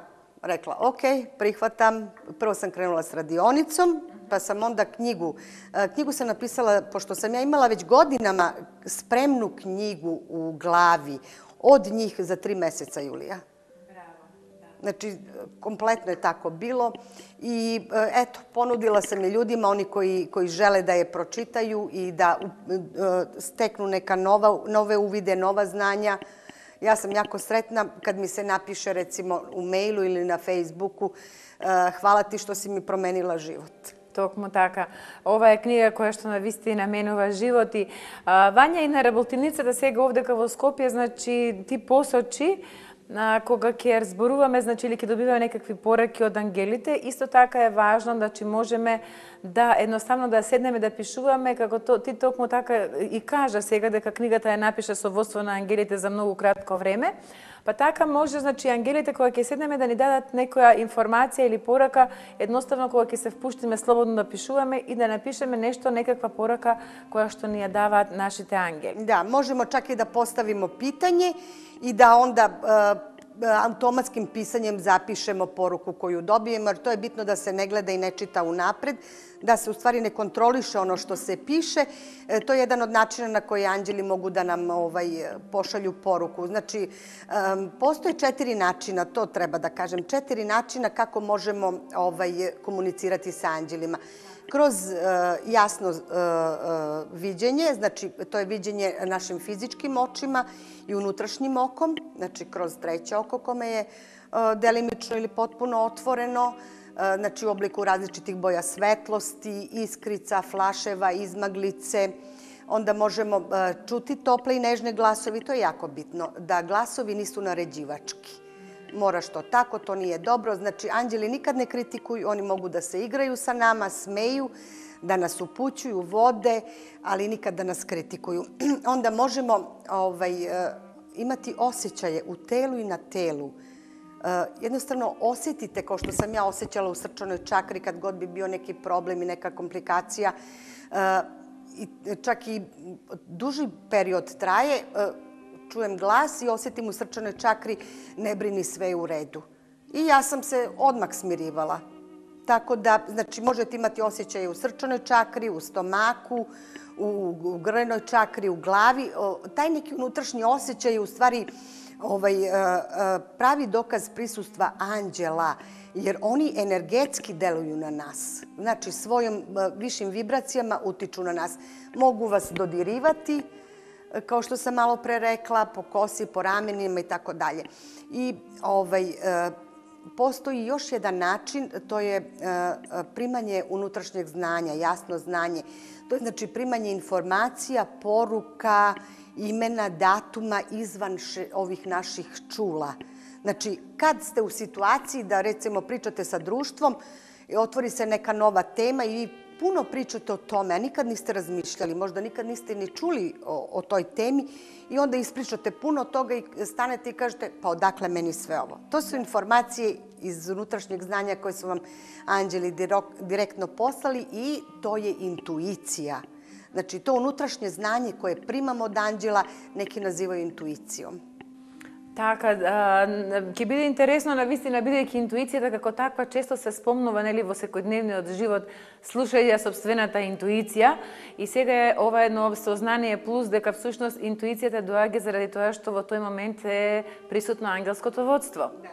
rekla, ok, prihvatam. Prvo sam krenula s radionicom, pa sam onda knjigu. Knjigu sam napisala, pošto sam ja imala već godinama spremnu knjigu u glavi, od njih za tri meseca, Julija. Znači, kompletno je tako bilo. I eto, ponudila sam je ljudima, oni koji, koji žele da je pročitaju i da steknu neka nova, nove uvide, nova znanja. Ja sam jako sretna kad mi se napiše recimo u mailu ili na Facebooku hvala ti što si mi promenila život. Токму така. Ова е книга која што навистина менува живот и а, Вања и на работилницата сега овдека во Скопје, значи ти посочи На кога ќе зборуваме, значи или ќе добиваме некакви пораки од ангелите, исто така е важно да значи можеме да едноставно да седнеме да пишуваме како то, ти токму така и кажа сега дека книгата ја напиша со водство на ангелите за многу кратко време. Па така може, значи, ангелите кога ќе седнеме да ни дадат некоја информација или порака, едноставно кога ќе се впуштиме слободно да пишуваме и да напишеме нешто, некаква порака која што ни ја даваат нашите ангели. Да, можемо чак и да поставимо питање и да онда automatskim pisanjem zapišemo poruku koju dobijemo, jer to je bitno da se ne gleda i ne čita unapred, da se u stvari ne kontroliše ono što se piše. E, to je jedan od načina na koji anđeli mogu da nam ovaj, pošalju poruku. Znači, um, postoje četiri načina, to treba da kažem, četiri načina kako možemo ovaj, komunicirati sa anđelima. Kroz uh, jasno uh, uh, viđenje, znači to je viđenje našim fizičkim očima i unutrašnjim okom, znači kroz treće oko kome je uh, delimično ili potpuno otvoreno, uh, znači u obliku različitih boja svetlosti, iskrica, flaševa, izmaglice. Onda možemo uh, čuti tople i nežne glasovi, to je jako bitno, da glasovi nisu naređivački. Moraš to tako, to nije dobro. Znači, anđeli nikad ne kritikuju, oni mogu da se igraju sa nama, smeju, da nas upućuju, vode, ali nikad da nas kritikuju. Onda možemo ovaj, imati osjećaje u telu i na telu. Jednostavno osjetite, kao što sam ja osjećala u srčanoj čakri kad god bi bio neki problem i neka komplikacija, i čak i duži period traje, čujem glas i osjetim u srčanoj čakri, ne brini, sve je u redu. I ja sam se odmah smirivala. Tako da, znači, možete imati osjećaje u srčanoj čakri, u stomaku, u, u grlnoj čakri, u glavi. Taj neki unutrašnji osjećaj je u stvari ovaj, pravi dokaz prisustva anđela, jer oni energetski deluju na nas. Znači, svojim višim vibracijama utiču na nas. Mogu vas dodirivati, kao što sam malo pre rekla, po kosi, po ramenima i tako dalje. I ovaj, postoji još jedan način, to je primanje unutrašnjeg znanja, jasno znanje. To je znači primanje informacija, poruka, imena, datuma izvan ovih naših čula. Znači, kad ste u situaciji da recimo pričate sa društvom, otvori se neka nova tema i vi puno pričate o tome, a nikad niste razmišljali, možda nikad niste ni čuli o, o toj temi i onda ispričate puno toga i stanete i kažete pa odakle meni sve ovo. To su informacije iz unutrašnjeg znanja koje su vam anđeli direktno poslali i to je intuicija. Znači to unutrašnje znanje koje primamo od anđela neki nazivaju intuicijom. Така, ќе биде интересно на вистина, бидејќи интуицијата како таква често се спомнува нели во секојдневниот живот, слушајќи ја собствената интуиција, и сега е ова едно сознание плюс дека всушност интуицијата доаѓа заради тоа што во тој момент е присутно ангелското водство. Да,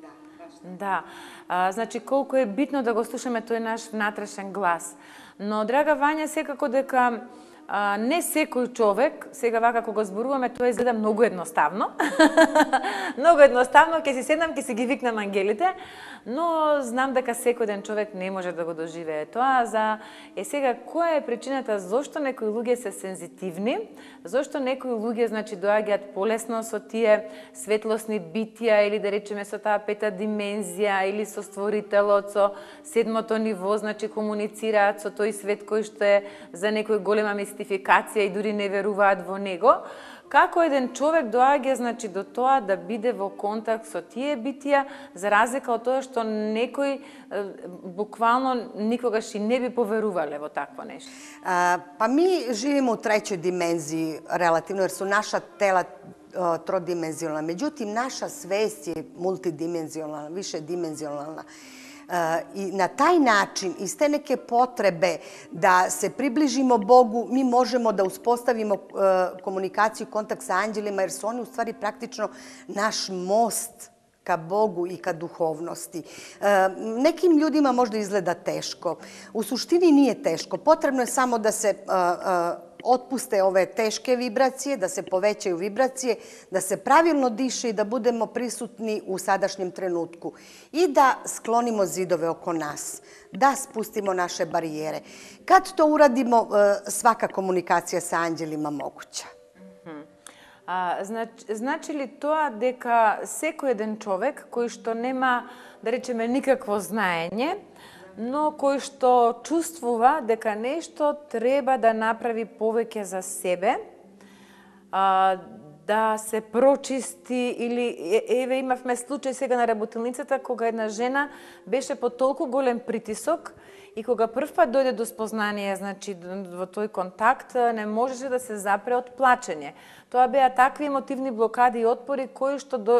да, баш. Да. А, значи колку е битно да го слушаме тој наш внатрешен глас. Но драга Вања, секако дека А, не секој човек, сега вака кога зборуваме, тоа изгледа многу едноставно. Многу едноставно, ќе си седнам, ќе си ги викнам ангелите, но знам дека секој ден човек не може да го доживее тоа. За е сега која е причината зошто некои луѓе се сензитивни, зошто некои луѓе значи доаѓаат полесно со тие светлосни битија или да речеме со таа пета димензија или со створителот, со седмото ниво, значи комуницираат со тој свет кој што е за некој голема мистификација и дури не веруваат во него. Како еден човек доаѓа значи до тоа да биде во контакт со тие битија, за разлика од тоа што некој буквално никогаш и не би поверувале во такво нешто? А, па ми живимо у треќој димензiji relativno, jer su naša tela trodimenzionalna. Međutim, naša svest je multidimenzionalna, višedimenzionalna. I na taj način, iz te neke potrebe da se približimo Bogu, mi možemo da uspostavimo komunikaciju, kontakt sa anđelima, jer su oni u stvari praktično naš most ka Bogu i ka duhovnosti. Nekim ljudima možda izgleda teško. U suštini nije teško. Potrebno je samo da se otpuste ove teške vibracije, da se povećaju vibracije, da se pravilno diše i da budemo prisutni u sadašnjem trenutku i da sklonimo zidove oko nas, da spustimo naše barijere. Kad to uradimo, svaka komunikacija sa anđelima moguća. А, знач, значи ли тоа дека секој еден човек кој што нема, да речеме, никакво знаење, но кој што чувствува дека нешто треба да направи повеќе за себе, а, да се прочисти или еве имавме случај сега на работилницата кога една жена беше под толку голем притисок и кога прв пат дојде до спознание, значи во тој контакт, не можеше да се запре од плачење. Тоа беа такви емотивни блокади и отпори кои што до,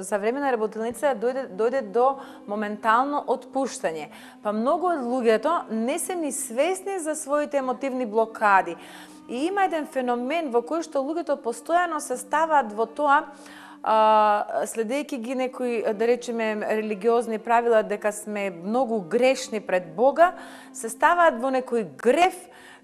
за време на работилница дојде, дојде до моментално отпуштање. Па многу од луѓето не се ни свесни за своите емотивни блокади. И има еден феномен во кој што луѓето постојано се ставаат во тоа, а, следејќи ги некои, да речеме, религиозни правила дека сме многу грешни пред Бога, се ставаат во некој грев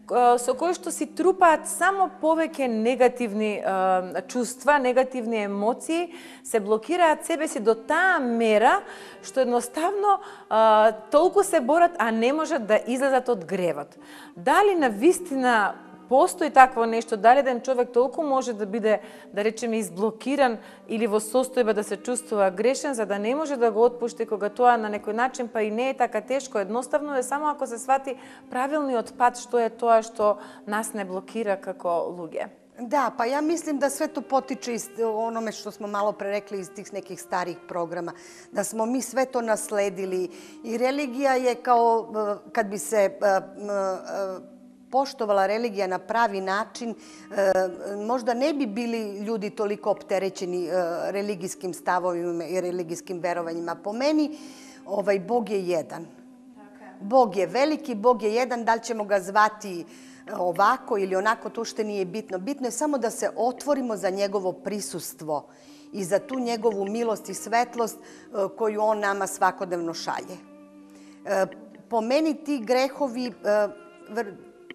со кој што си трупаат само повеќе негативни а, чувства, негативни емоции, се блокираат себе си до таа мера што едноставно а, толку се борат, а не можат да излезат од гревот. Дали на вистина постои такво нешто, дали еден човек толку може да биде, да речеме, изблокиран или во состојба да се чувствува грешен, за да не може да го отпушти кога тоа на некој начин па и не е така тешко, едноставно е само ако се свати правилниот пат што е тоа што нас не блокира како луѓе. Да, па ја мислим да свето потиче из ономе што смо мало пререкли из тих неких старих програма, да смо ми свето наследили и религија е као кад би се поштовала религија на прави начин, можда не би били луѓе толико оптереќени религиским ставовима и религиским верувањима. По мени, овај Бог е еден. Бог е велики, Бог е еден, дали ćemo ga zvati ovako ili onako, to уште nije bitno. Bitno je samo da se otvorimo za njegovo prisustvo i za tu njegovu milost i svetlost koju on nama svakodnevno šalje. Po meni ti grehovi,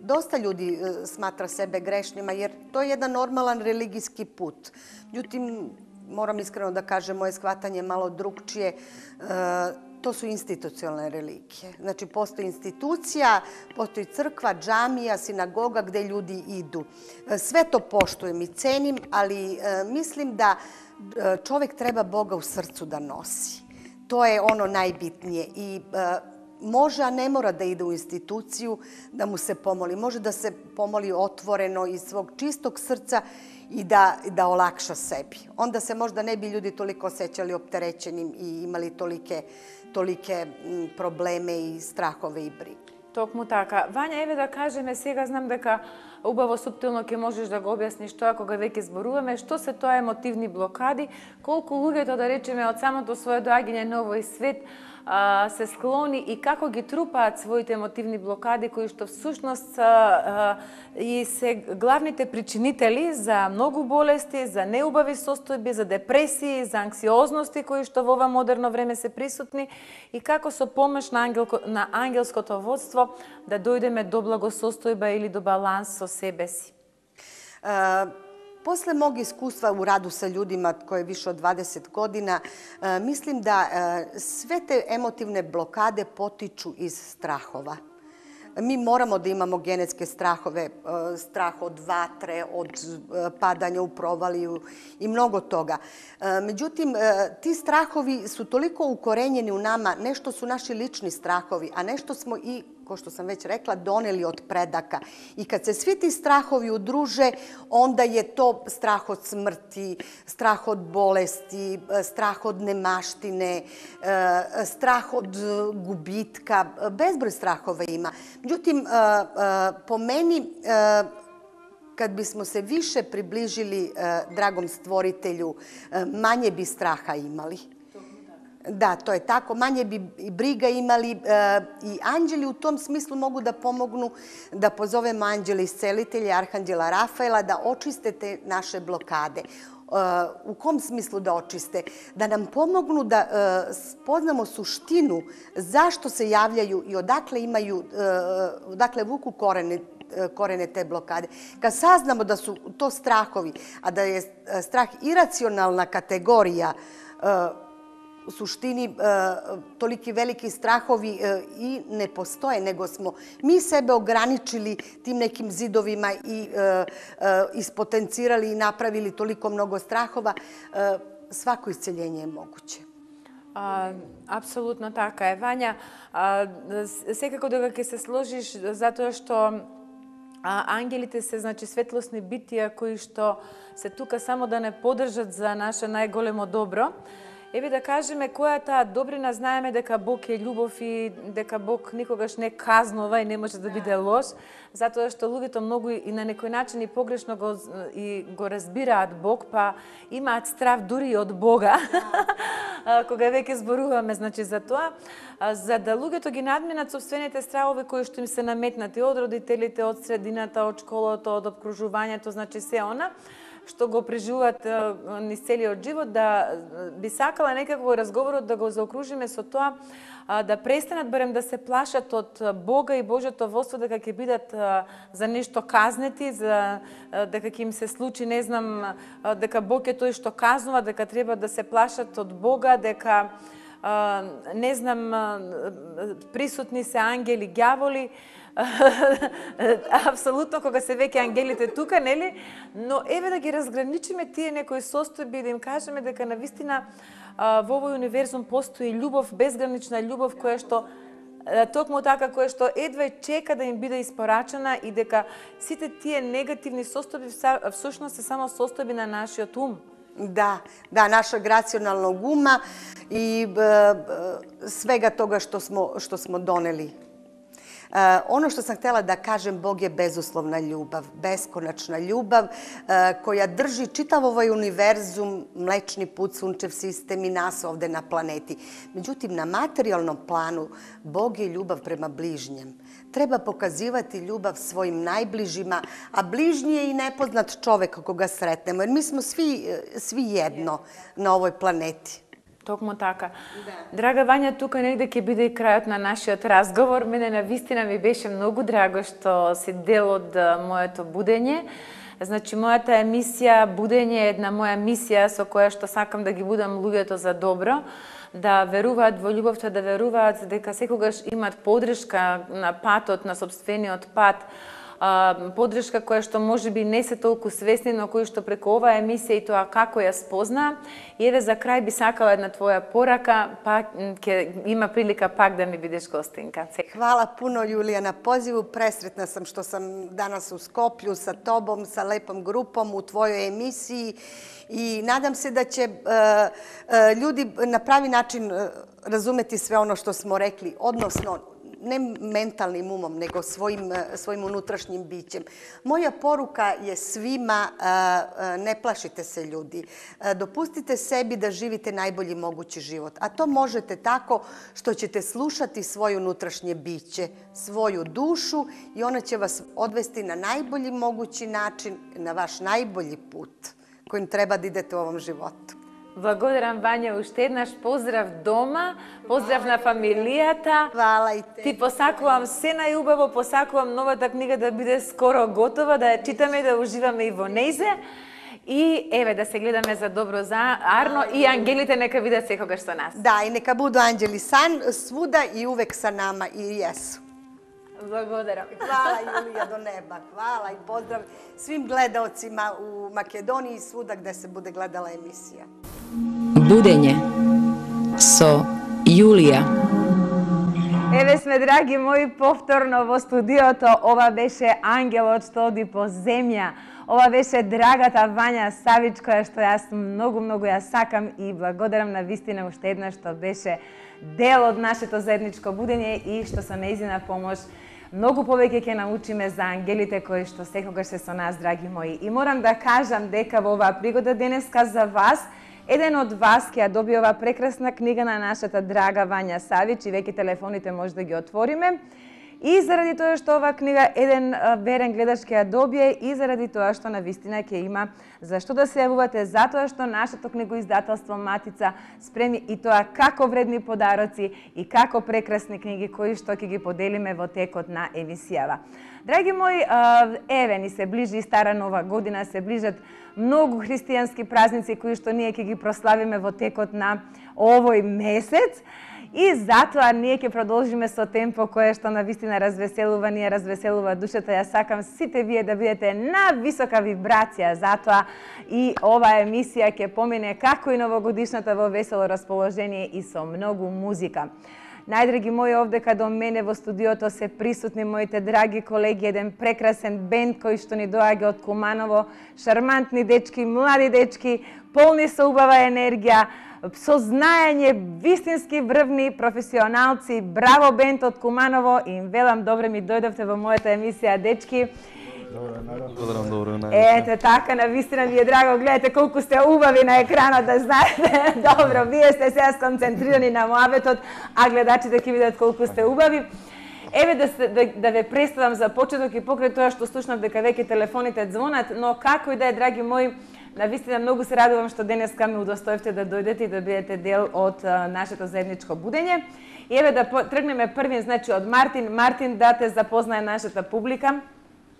dosta ljudi smatra sebe grešnima jer to je jedan normalan religijski put. Međutim, moram iskreno da kažem, moje shvatanje je malo drugčije. To su institucionalne religije. Znači, postoji institucija, postoji crkva, džamija, sinagoga gde ljudi idu. Sve to poštujem i cenim, ali mislim da čovek treba Boga u srcu da nosi. To je ono najbitnije. I može, a ne mora da ide u instituciju da mu se pomoli. Može da se pomoli otvoreno iz svog čistog srca i da, da olakša sebi. Onda se možda ne bi ljudi toliko osjećali opterećenim i imali tolike, tolike probleme i strahove i brige. Токму така. Вања, еве да кажеме, сега знам дека убаво суптилно ќе можеш да го објасниш тоа кога веќе зборуваме, што се тоа емотивни блокади, колку луѓето, да речеме, од самото свое доаѓање на овој свет а, се склони и како ги трупаат своите емотивни блокади, кои што всушност а, а, и се главните причинители за многу болести, за неубави состојби, за депресии, за анксиозности кои што во ова модерно време се присутни и како со помош на, ангел, на ангелското водство да дојдеме до благосостојба или до баланс со себе си. Uh, Posle mog iskustva u radu sa ljudima koje je više od dvadeset godina, uh, mislim da uh, sve te emotivne blokade potiču iz strahova. Mi moramo da imamo genetske strahove, strah od vatre, od padanja u provaliju i mnogo toga. Međutim, ti strahovi su toliko ukorenjeni u nama, nešto su naši lični strahovi, a nešto smo i, kao što sam već rekla, doneli od predaka. I kad se svi ti strahovi udruže, onda je to strah od smrti, strah od bolesti, strah od nemaštine, strah od gubitka, bezbroj strahova ima. Međutim, po meni, kad bismo se više približili dragom stvoritelju, manje bi straha imali. Da, to je tako. Manje bi i briga imali i anđeli u tom smislu mogu da pomognu da pozovemo anđela iscelitelja, arhanđela Rafaela, da očiste te naše blokade. U kom smislu da očiste? Da nam pomognu da spoznamo suštinu zašto se javljaju i odakle imaju, odakle vuku korene korene te blokade. Kad saznamo da su to strahovi, a da je strah iracionalna kategorija suštini toliki veliki strahovi i ne postoje, nego smo mi sebe ograničili tim nekim zidovima i ispotencirali i napravili toliko mnogo strahova. Svako isceljenje je moguće. А, апсолутно така е, Вања. А, секако дека ќе се сложиш, затоа што а, ангелите се, значи, светлосни битија кои што се тука само да не подржат за наше најголемо добро. Еве да кажеме која е таа добрина, знаеме дека Бог е љубов и дека Бог никогаш не казнува и не може да биде лош, затоа што луѓето многу и на некој начин и погрешно го, и го разбираат Бог, па имаат страв дури и од Бога, кога веќе зборуваме, значи, за тоа, за да луѓето ги надминат собствените стравови кои што им се наметнати од родителите, од средината, од школото, од обкружувањето, значи се она, што го преживуваат низ целиот живот, да би сакала некако разговорот да го заокружиме со тоа, да престанат барем да се плашат од Бога и Божјото воство дека ќе бидат за нешто казнети, за дека ќе им се случи, не знам, дека Бог е тој што казнува, дека треба да се плашат од Бога, дека не знам, присутни се ангели, ѓаволи. Апсолутно, кога се веќе ангелите тука, нели? Но еве да ги разграничиме тие некои состојби и да им кажеме дека навистина во овој универзум постои љубов, безгранична љубов која што токму така која што едва чека да им биде испорачена и дека сите тие негативни состојби всушност се само состојби на нашиот ум. Да, да, нашeg рационалnog uma i svega toga što smo, što smo doneli. Uh, ono što sam htjela da kažem, Bog je bezuslovna ljubav, beskonačna ljubav uh, koja drži čitav ovaj univerzum, Mlečni put, Sunčev sistem i nas ovde na planeti. Međutim, na materijalnom planu Bog je ljubav prema bližnjem. Treba pokazivati ljubav svojim najbližima, a bližnji je i nepoznat čovek koga sretnemo, jer mi smo svi, svi jedno na ovoj planeti. Токму така. Да. Драга Вања, тука негде ќе биде и крајот на нашиот разговор. Мене навистина ми беше многу драго што си дел од моето будење. Значи, мојата емисија Будење е една моја мисија со која што сакам да ги будам луѓето за добро, да веруваат во љубовта, да веруваат дека секогаш имаат подршка на патот, на собствениот пат, подршка која што можеби не се толку свесни, но кои што преку оваа емисија и тоа како ја спозна. И еве за крај би сакала една твоја порака, па ќе има прилика пак да ми бидеш гостинка. Hvala puno, Julija, na pozivu. Presretna sam što sam danas u Skoplju sa tobom, sa lepom grupom u tvojoj emisiji i nadam se da će ljudi na pravi način razumeti sve ono što smo rekli, odnosno ne mentalnim umom, nego svojim, svojim unutrašnjim bićem. Moja poruka je svima, ne plašite se ljudi. Dopustite sebi da živite najbolji mogući život. A to možete tako što ćete slušati svoje unutrašnje biće, svoju dušu i ona će vas odvesti na najbolji mogući način, na vaš najbolji put kojim treba da idete u ovom životu. Благодарам, Вања, уште еднаш поздрав дома, поздрав на фамилијата. Хвала и те. Ти посакувам се најубаво, посакувам новата книга да биде скоро готова, да ја читаме и да уживаме и во нејзе. И еве да се гледаме за добро за Арно и ангелите нека бидат секогаш со нас. Da, i neka budu anđeli san, svuda i uvek sa nama i jesu. Благодарам. Hvala, Julija, do neba. Hvala i pozdrav svim gledaocima u Makedoniji i svuda gde se bude gledala emisija. Budeње со Јулија. Еве сме, драги мои, повторно во студиото. Ова беше ангелот што оди по земја. Ова беше драгата Вања Савич, која што јас многу, многу ја сакам и благодарам на вистина уште еднаш што беше дел од нашето заедничко будење и што со нејзина помош многу повеќе ќе научиме за ангелите кои што секогаш се со нас, драги мои. И морам да кажам дека во оваа пригода денеска за вас, еден од вас ќе ја добие оваа прекрасна книга на нашата драга Вања Савич и веќе телефоните може да ги отвориме. И заради тоа што оваа книга еден а, верен гледач ќе ја добие и заради тоа што навистина ќе има зашто да се јавувате, затоа што нашето книгоиздателство Матица спреми и тоа како вредни подароци и како прекрасни книги кои што ќе ги поделиме во текот на емисијава. Драги мои, еве ни се ближи и стара нова година, се ближат многу христијански празници кои што ние ќе ги прославиме во текот на овој месец. И затоа ние ќе продолжиме со темпо кое што навистина развеселува, ние развеселува душата. Ја сакам сите вие да бидете на висока вибрација, затоа и оваа емисија ќе помине како и новогодишната во весело расположение и со многу музика. Најдраги мои, овдека до мене во студиото се присутни моите драги колеги, еден прекрасен бенд кој што ни доаѓа од Куманово, шармантни дечки, млади дечки, полни со убава енергија, со знаење, вистински врвни професионалци. Браво бенд од Куманово, им велам добре ми дојдовте во мојата емисија, дечки. Благодарам, добро, Ете така, навистина ми е драго, гледате колку сте убави на екранот, да знаете. Добро, вие сте сега сконцентрирани на муабетот, а гледачите ќе видат колку сте убави. Еве да, се, да, да ве представам за почеток и покрај тоа што слушнав дека веќе телефоните звонат, но како и да е, драги мои, навистина многу се радувам што денеска ме удостоивте да дојдете и да бидете дел од а, нашето заедничко будење. И еве да тргнеме првин, значи од Мартин. Мартин, да те запознае нашата публика.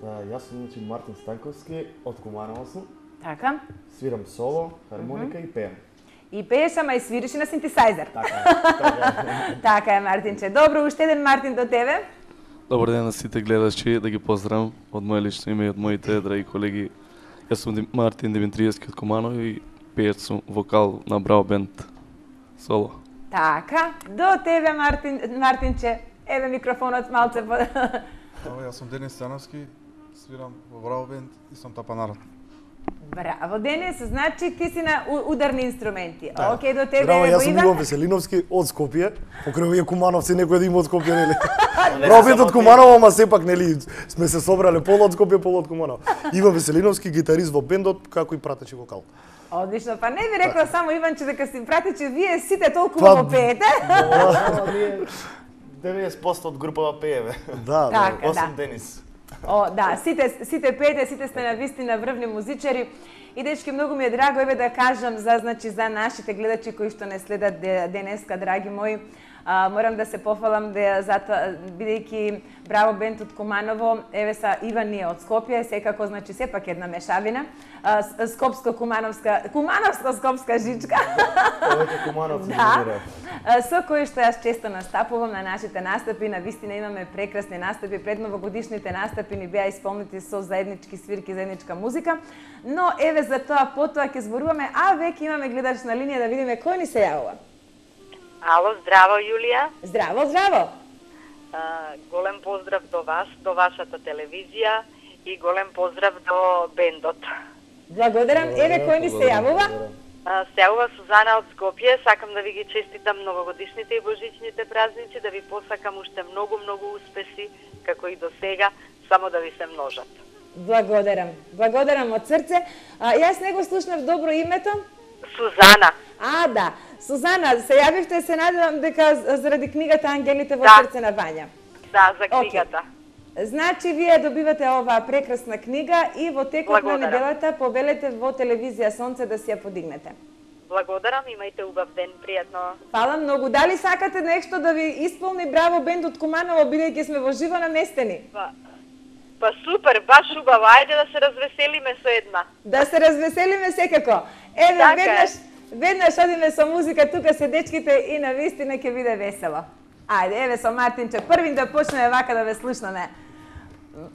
Да, јас сум значи Мартин Станковски, од Куманово сум. Така. Свирам соло, хармоника mm -hmm. и пеем. И пееш, ама и свириш и на синтесајзер. Така е, така е. Така е, Мартинче. Добро, уште еден Мартин до тебе. Добар ден на сите гледачи, да ги поздравам од моје лично име и од моите драги колеги. Јас сум Мартин Димитриевски од Куманово и пеец сум вокал на Браво бенд соло. Така, до тебе, Мартин, Мартинче. Еве микрофонот малце. Ало, јас сум Денис Становски, свирам во Браво бенд и сум тапанарот. Браво, Денис, значи ти си на ударни инструменти. Да. Океј, до тебе, Браво, јас сум Иван. Иво Веселиновски од Скопје. Покрај овие Кумановци некој да има од Скопје, нели? Браво бенд од Куманово, ама сепак нели сме се собрале полу од Скопје, полу од Куманово. Иво Веселиновски, гитарист во бендот, како и пратеч и вокал. Одлично, па не ви рекла само Иванче дека си пратече, вие сите толку убаво пеете. деветдесет проценти од групава пееве. Да, Така, да. Осем да. Денис. О, да, сите, сите пеете, сите сте на вистина врвни музичари. И дечки, многу ми е драго еве да кажам за, значи, за нашите гледачи кои што не следат денеска, драги мои. А, морам да се пофалам да затоа, бидејќи Браво бенд од Куманово, еве са Иван ние од Скопје, секако, значи, сепак една мешавина. Скопско-кумановска, кумановско-скопска жичка. Повеќе Кумановци Да, доминираат. А, со кои што јас често настапувам на нашите настапи, на вистина имаме прекрасни настапи, пред новогодишните настапи ни беа исполнети со заеднички свирки, заедничка музика, но еве за тоа потоа ќе зборуваме, а веќе имаме гледач на линија да видиме кој ни се јавува. Ало, здраво, Јулија. Здраво, здраво! А, голем поздрав до вас, до вашата телевизија и голем поздрав до бендот. Благодарам, еве кој ни се јавува? А, се јавува Сузана од Скопје, сакам да ви ги честитам новогодишните и божичните празници, да ви посакам уште многу, многу успеси, како и до сега, само да ви се множат. Благодарам, благодарам од срце. А, јас не го слушнав добро името. Сузана. А, да. Сузана, се јавивте, се надевам дека заради книгата Ангелите во Да. срце на Вања. Да, за книгата. Okay. Значи, вие добивате оваа прекрасна книга и во текот Благодарам. на неделата повелете во телевизија Сонце да си ја подигнете. Благодарам, имајте убав ден, пријатно. Фала многу. Дали сакате нешто да ви исполни Браво бенд од Куманово, бидејќи сме во живо наместени? Па, па супер, баш убаво, ајде да се развеселиме со една. Да се развеселиме секако. Еве, Така е. веднаш, веднаш одиме со музика, тука се дечките и на вистина ќе биде весело. Ајде, еве со Мартинче, првин да почнеме вака да ве слушнаме.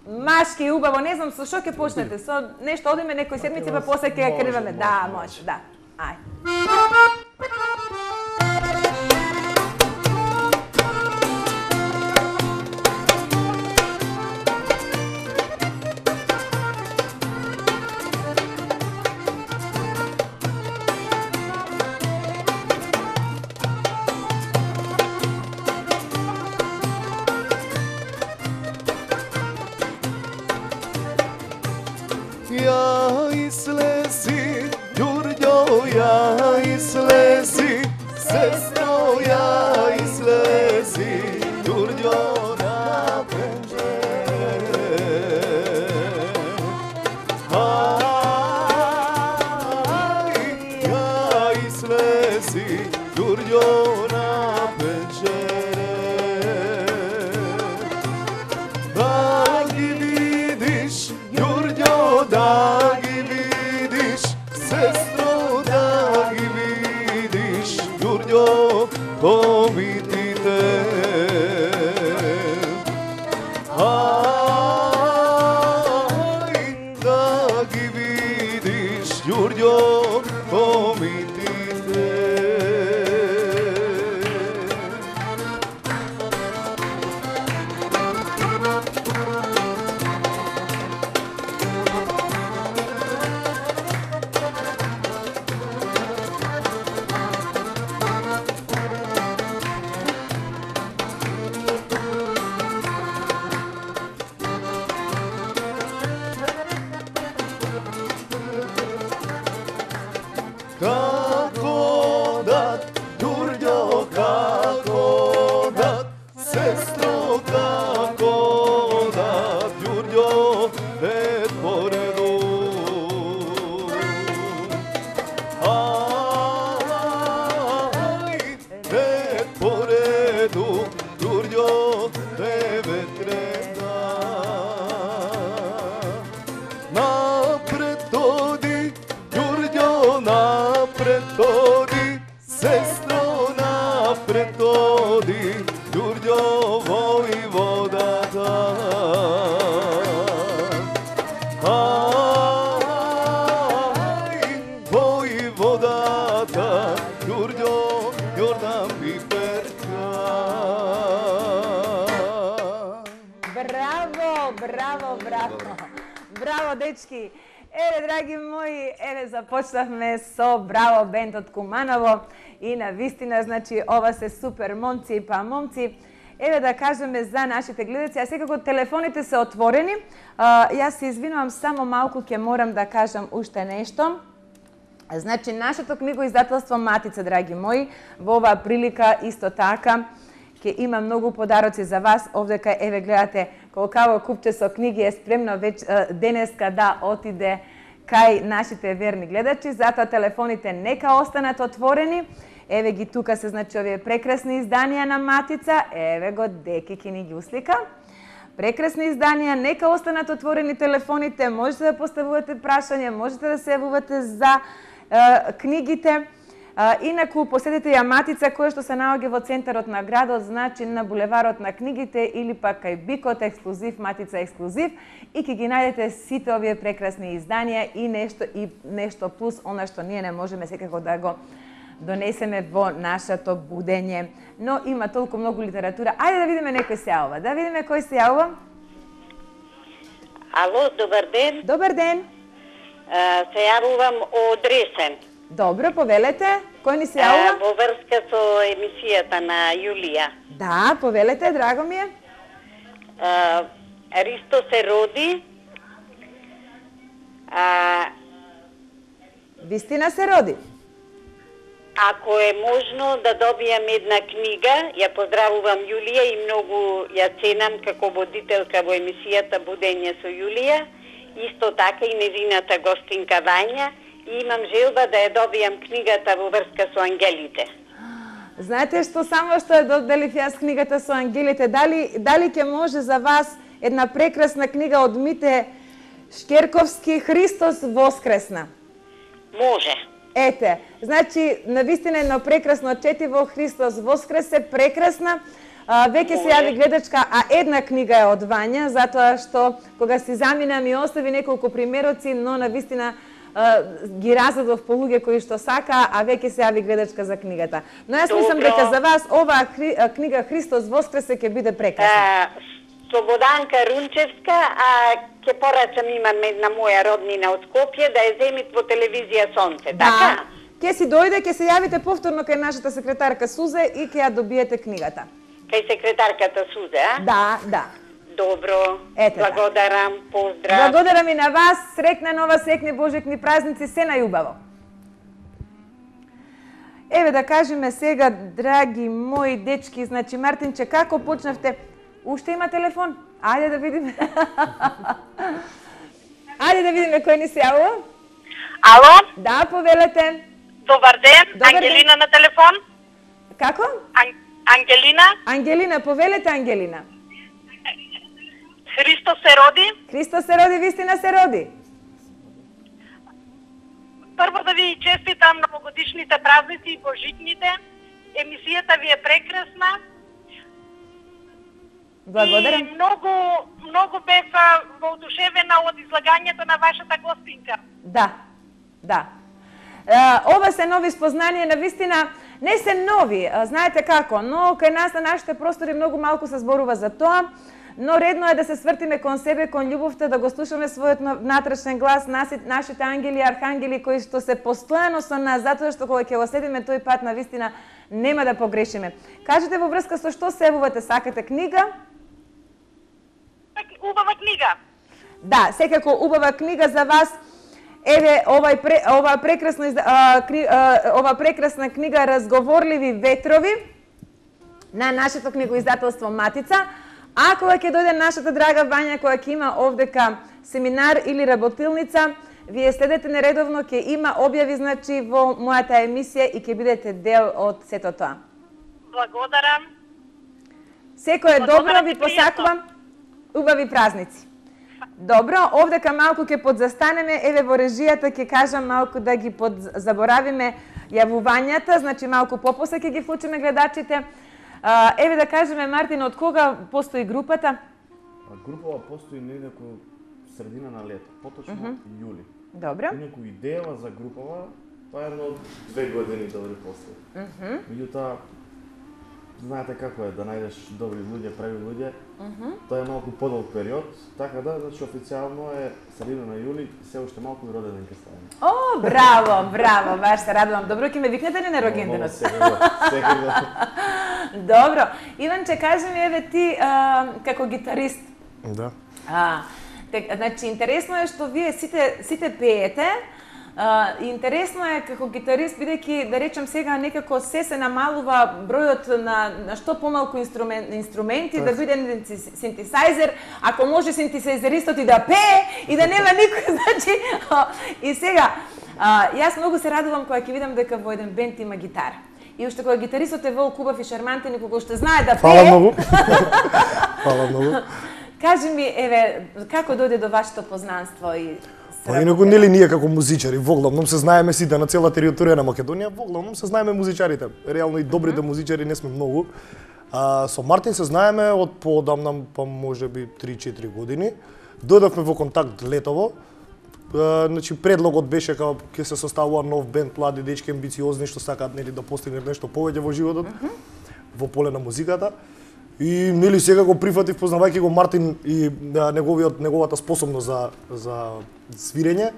Машки и убаво, не знам со што ќе почнете, со нешто одиме некој седмици па после ќе ја криваме. Да, може, да. Ајде. Ja izlezi, Đurđo, ja izlezi, sestro, ja izlezi, Đurđo, na slezi Đurđo na pečere. Da gi vidiš, Đurđo, da gi vidiš, sestro, da gi vidiš, Đurđo, to vidite. Aj, da gi vidiš, Đurđo, to vidite. Kako dat, Đurđo, kako dat, sestro, kako dat, Đurđo, red po redu. Aj, red po redu, Đurđo, devet reda. Napred odi, Đurđo, napred odi, sestro, napred odi, Đurđo, vojvodata. Aj, vojvodata, Đurđo, Jordan Piperka. Браво, браво, браво. Браво, дечки. Еве, драги мои, еве започнавме со Браво бенд од Куманово и на вистина, значи, ова се супер момци, па момци. Еве да кажеме за нашите гледаци, а секако телефоните се отворени. А, јас се извинувам, само малку ќе морам да кажам уште нешто. Значи, нашето книгоиздателство Матица, драги мои, во оваа прилика исто така ќе има многу подароци за вас. Овдека, еве, гледате, колкаво купче со книги е спремно веќе денеска да отиде кај нашите верни гледачи. Затоа телефоните нека останат отворени. Еве ги тука се, значи, овие прекрасни изданија на Матица. Еве го Деки ќе ни ги услика. Прекрасни изданија, нека останат отворени телефоните. Можете да поставувате прашања, можете да се јавувате за е, книгите. Инаку, посетете ја Матица, која што се наоѓа во центарот на градот, значи на булеварот на книгите или пак кај Бикот ексклузив, Матица ексклузив, и ќе ги најдете сите овие прекрасни изданија и нешто и нешто плюс она што ние не можеме секако да го донесеме во нашето будење. Но има толку многу литература. Ајде да видиме некој се јавува. Да видиме кој се јавува. Ало, добар ден. Добар ден. А, се јавувам од Ресен. Добро, повелете. Кој ни се јавува? Во врска со емисијата на Јулија. Да, повелете, драго ми е. А, Ристо се роди. А, Вистина се роди. Ако е можно да добијам една книга, ја поздравувам Јулија и многу ја ценам како водителка во емисијата Будење со Јулија, исто така и незината гостинка Вања, и имам желба да ја добијам книгата во врска со ангелите. Знаете што, само што ја доделив јас книгата со ангелите, дали, дали ќе може за вас една прекрасна книга од Мите Шкерковски «Христос воскресна»? Може. Ете, значи, навистина едно прекрасно четиво, Христос воскресе, прекрасна. А, веќе се јави гледачка, а една книга е од Вања, затоа што кога си замина ми остави неколку примероци, но навистина а, ги разредов по луѓе кои што сака, а веќе се јави гледачка за книгата. Но јас мислам дека за вас оваа хри, книга Христос воскресе ќе биде прекрасна. Слободанка Рунчевска, а ќе порачам, имам една моја роднина од Скопје, да ја земит во телевизија Сонце, да. така? Ќе си дојде, ќе се јавите повторно кај нашата секретарка Сузе и ќе ја добиете книгата. Кај секретарката Сузе, а? Да, да. Добро, Ете, благодарам, поздрав. Благодарам и на вас, срекна нова, секни божекни празници, се најубаво. Еве да кажеме сега, драги мои дечки, значи Мартинче, како почнавте? Уште има телефон? Ајде да видиме. Ајде да видиме кој ни се јавува. Ало? Да, повелете. Добар ден, Добар Ангелина на телефон. Како? Ан... Ангелина. Ангелина, повелете Ангелина. Христо се роди. Христо се роди, вистина се роди. Прво да ви честитам новогодишните празници и божитните. Емисијата ви е прекрасна. Благодарам. И многу, многу бев воодушевена од излагањето на вашата гостинка. Да, да. Е, ова се нови спознанија, на вистина не се нови, знаете како, но кај нас на нашите простори многу малку се зборува за тоа, но редно е да се свртиме кон себе, кон љубовта, да го слушаме својот натрашен глас, нашите ангели и архангели кои што се постојано со нас, затоа што кога ќе го следиме тој пат, на вистина нема да погрешиме. Кажете во врска со што севувате, сакате книга? Убава книга. Да, секако убава книга за вас. Еве овај ова прекрасна а, кри, а, ова прекрасна книга Разговорливи ветрови на нашето книгоиздателство Матица. А кога ќе дојде нашата драга Вања, која ќе има овдека семинар или работилница, вие следете нередовно, ќе има објави, значи, во мојата емисија и ќе бидете дел од сето тоа. Благодарам. Секој е добро, ви посакувам. Убави празници. Добро, овдека малку ќе подзастанеме, еве во режијата ќе кажам малку да ги подзаборавиме јавувањата, значи малку попосе ќе ги вклучиме гледачите. А, еве да кажеме, Мартин, од кога постои групата? Групава постои негде како средина на лето, поточно uh -huh. јули. Добро. И некој идеја за групава, тоа е едно од две години добри после. Uh -huh. Меѓутоа, знаете како е да најдеш добри луѓе, прави луѓе. Uh -huh. Тоа е малку подолг период, така да, значи официјално е средина на јули, се уште малку и роденден ќе ставиме. О, браво, браво, баш се радувам. Добро, ќе ме викнете ли на рогенденот? Секако, секако. Добро. Иванче, кажи ми, еве ти, а, како гитарист. Да. А, тек, значи, интересно е што вие сите, сите пеете. Uh, интересно е како гитарист, бидејќи, да речем сега, некако се се намалува бројот на, на што помалку инструмент, инструменти, да биде еден синтесајзер, ако може синтесајзеристот и да пее, и да нема никој, значи, uh, и сега, uh, јас многу се радувам кога ќе видам дека во еден бенд има гитара. И уште кога гитаристот е волк, убав и шармантен, и кога уште знае да пее... Фала многу. Фала многу. Кажи ми, еве, како дојде до вашето познанство и... Па инаку нели ние како музичари, воглавном се знаеме сите на цела територија на Македонија, воглавном се знаеме музичарите. Реално и добрите музичари не сме многу. А, со Мартин се знаеме од поодамна, па можеби три-четири години. Дојдовме во контакт летово. А, значи предлогот беше како ќе се составува нов бенд, млади дечки амбициозни што сакаат нели да постигнат нешто повеќе во животот, uh -huh. во поле на музиката. И нели сега го прифатив, познавајќи го Мартин и да, неговиот неговата способност за за свирење.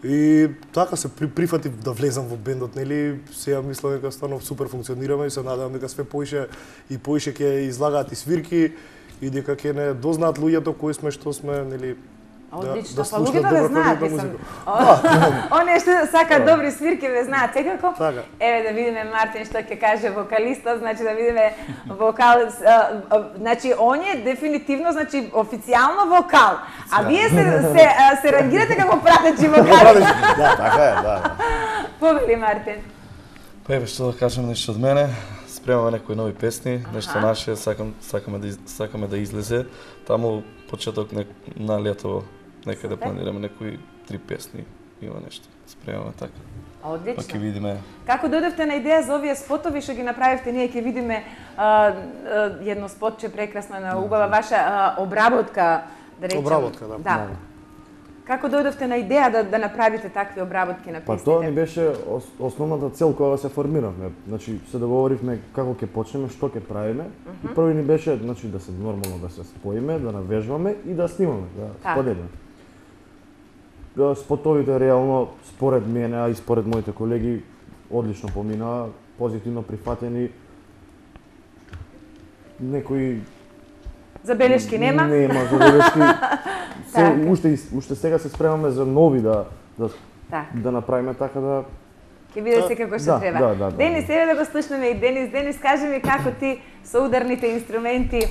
И така се при, прифатив да влезам во бендот, нели? Сега мислам дека станов супер функционираме и се надевам дека све поише и поише ќе излагаат и свирки и дека ќе не дознаат луѓето кои сме, што сме, нели? Одлично, да, да па луѓето ве знаат, мислам. Оние што сакаат добри свирки ве знаат, секако. Така. Еве да видиме Мартин што ќе каже вокалистот, значи да видиме вокал, а, а, значи оние дефинитивно, значи официјално вокал. А вие се се а, се рангирате како пратечи вокали. Да, така е, да. Повели Мартин. Па еве што да кажам нешто од мене. Спремаме некои нови песни, нешто наше, сакам сакаме да из, сакаме да излезе. Таму почеток не, на лето некаде да планираме некои три песни, има нешто. Спремаме така. Одлично. Па ќе видиме. Како дојдовте на идеја за овие спотови што ги направивте, ние ќе видиме а, а, едно спотче прекрасно на убава ваша а, обработка, да речем. Обработка, да. Да. Како дојдовте на идеја да, да направите такви обработки на песните? Па тоа ни беше ос, основната цел кога се формиравме. Значи се договоривме како ќе почнеме, што ќе правиме. Uh -huh. И први ни беше, значи, да се нормално да се споиме, да навежбаме и да снимаме, да споделиме. Спотовите реално според мене, а и според моите колеги одлично поминаа, позитивно прифатени. Некои забелешки нема? Нема забелешки. Се, уште уште сега се спремаме за нови да да так. да направиме така да ќе биде се како што да, треба. Да, да, да, Денис, еве да го слушнеме и Денис. Денис, кажи ми како ти со ударните инструменти,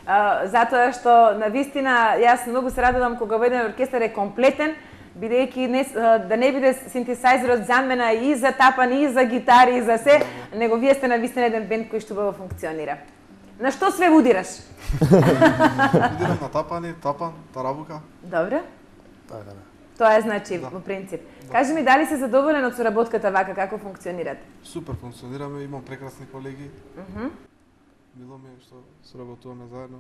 а, затоа што на вистина јас многу се радувам кога во еден оркестар е комплетен. бидејќи не, да не биде синтесајзерот замена и за тапан, и за гитари, и за се, него вие сте навистина еден бенд кој што убаво функционира. На што све будираш? Будирам на тапани, тапан, тарабука. Добре. Така да. Тоа е значи во принцип. Кажи ми дали си задоволен од соработката вака, како функционирате? Супер функционираме, имам прекрасни колеги. Мгм. Мило ми е што соработуваме заедно.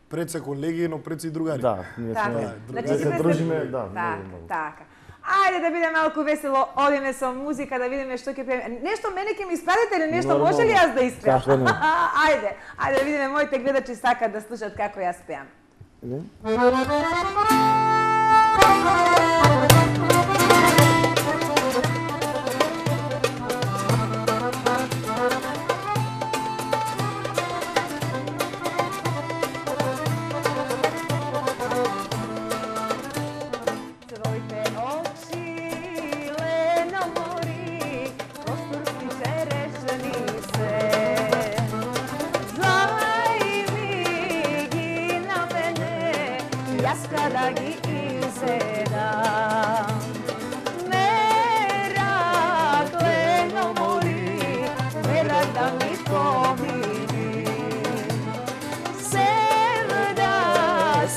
Пред се колеги, но пред се и другари. Да, ние Така. сме. Значи Да си се пред- дружиме, да, Така, многу, многу. така. Ајде да биде малку весело, одиме со музика, да видиме што ќе пееме. Нешто мене ќе ми испадете или нешто Нормално. може ли јас да испеам? Зашто не? Ајде, ајде да видиме моите гледачи сакаат да слушат како јас пеам. Не? Твоите очи, лено мори, просторски черешни се. Зајми ги на мене, јас када ги изедам. Мерак, лено мори, мерак да ми помини. Sevda,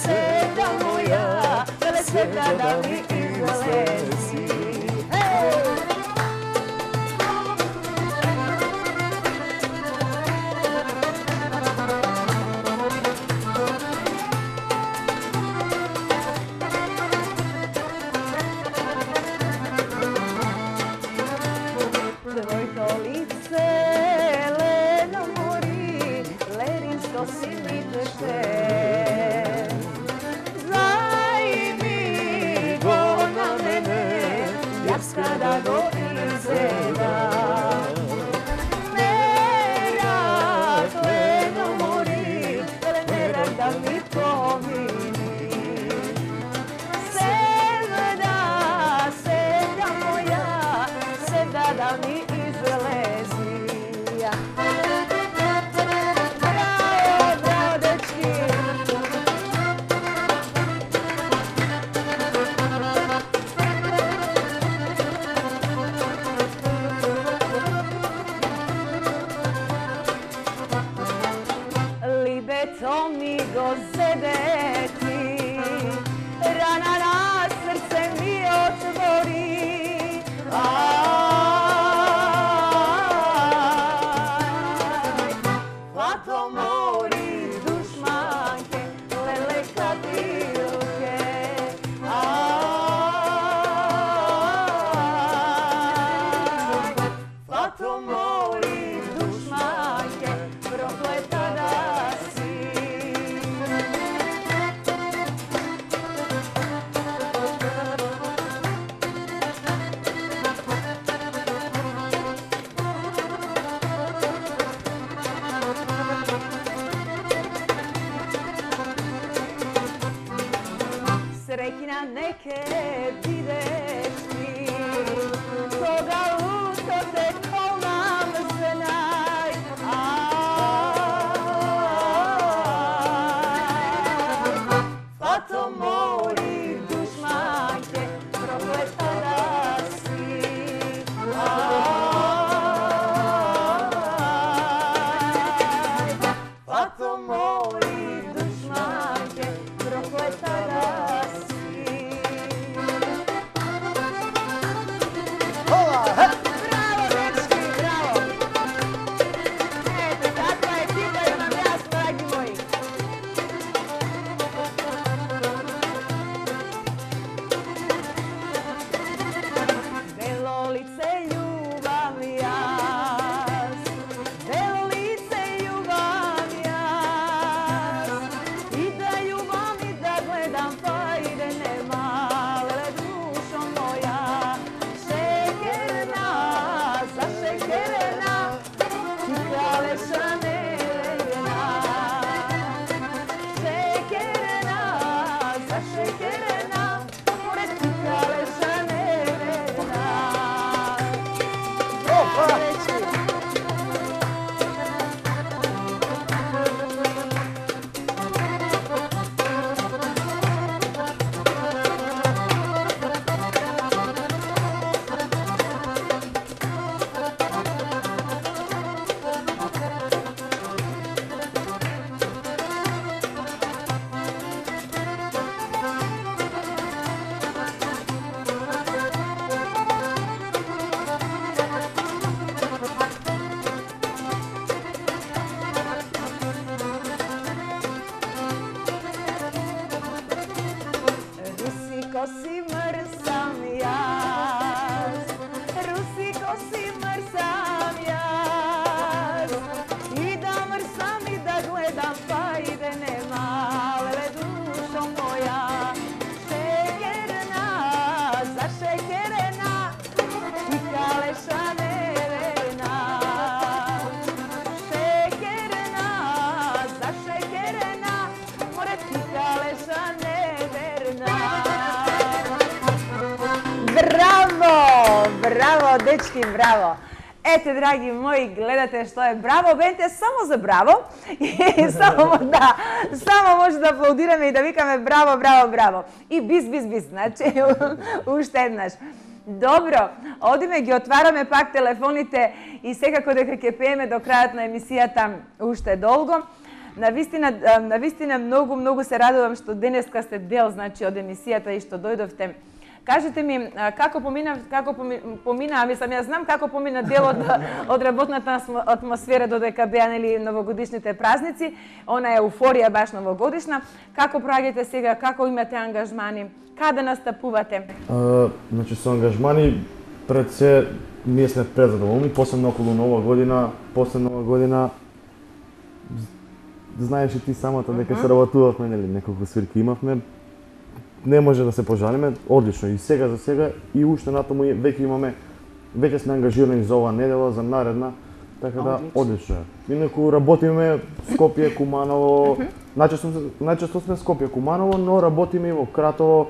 sevda moja, vele sevda da mi izlezi. Hey! Tvojto lice, leno mori, lerinsko si mi teče. Zajmi go na mene, јас када го изедам. Мерак, лено мори, ле мерак да ми помини. Sevda, sevda moja, sevda da mi izlezi. Bravo, bravo, dečki. Libeto mi go zedeti, rana na srce mi otvori. Aj, Fato mori dušmanke, lele kadilke. Aj, Fato mori dušmanke, prokleta da si. Srećna neke videš ti, koga luto te kolnam znaj. Fato mori dušmanke, prokleta da si. Fato mori dušmanke, prokleta da si. Bravo, dečki, bravo! Ete, takva ekipa imam јас, драги мои. Belo lice ljubav jas, belo lice ljubav jas, i da ljubav i da gledam pa ide nema, lele dušo moja, šekerna, zašekerena, ti kraleša nerena. Šekerena, zašekerena, pored ti kraleša nerena. Reći. što si mrsam jaz. I da mrsam i da gledam pa ide nema, lele dušo moja. Šekerna, zašekerena, i kaleša neverna. Šekerna, zašekerena, more ti kaleša neverna. Bravo, bravo, dečki, bravo. Ете, драги мои, гледате што е Браво Бенд е само за Браво. И само, да, само може да аплаудираме и да викаме Браво, Браво, Браво. И бис, бис, бис, значи, уште еднаш. Добро, одиме, ги отвараме пак телефоните и секако дека ќе пееме до крајот на емисијата уште долго. Навистина, навистина многу, многу се радувам што денеска сте дел, значи, од емисијата и што дојдовте. Кажете ми, како помина, како помина, мислам, јас знам како помина дел од, од работната атмосфера додека беа нели новогодишните празници, она е еуфорија баш новогодишна. Како проаѓате сега, како имате ангажмани, каде настапувате? А, значи со ангажмани пред се ние сме презадоволни, посебно околу Нова година, после Нова година знаеш и ти самата дека се работувавме, нели, неколку свирки имавме. Не може да се пожалиме, одлично и сега за сега и уште натаму веќе имаме, веќе сме ангажирани за оваа недела, за наредна, така да одлично е. Инаку работиме Скопје, Куманово, најчесто, најчесто сме Скопје, Куманово, но работиме и во Кратово.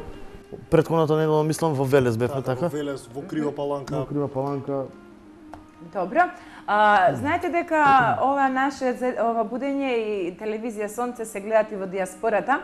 Претходната недела мислам во Велес бевме, така? Во Велес, во Крива Паланка. Во Крива Паланка. Добро. А, знаете дека ова наше ова будење и телевизија Сонце се гледат и во диаспората.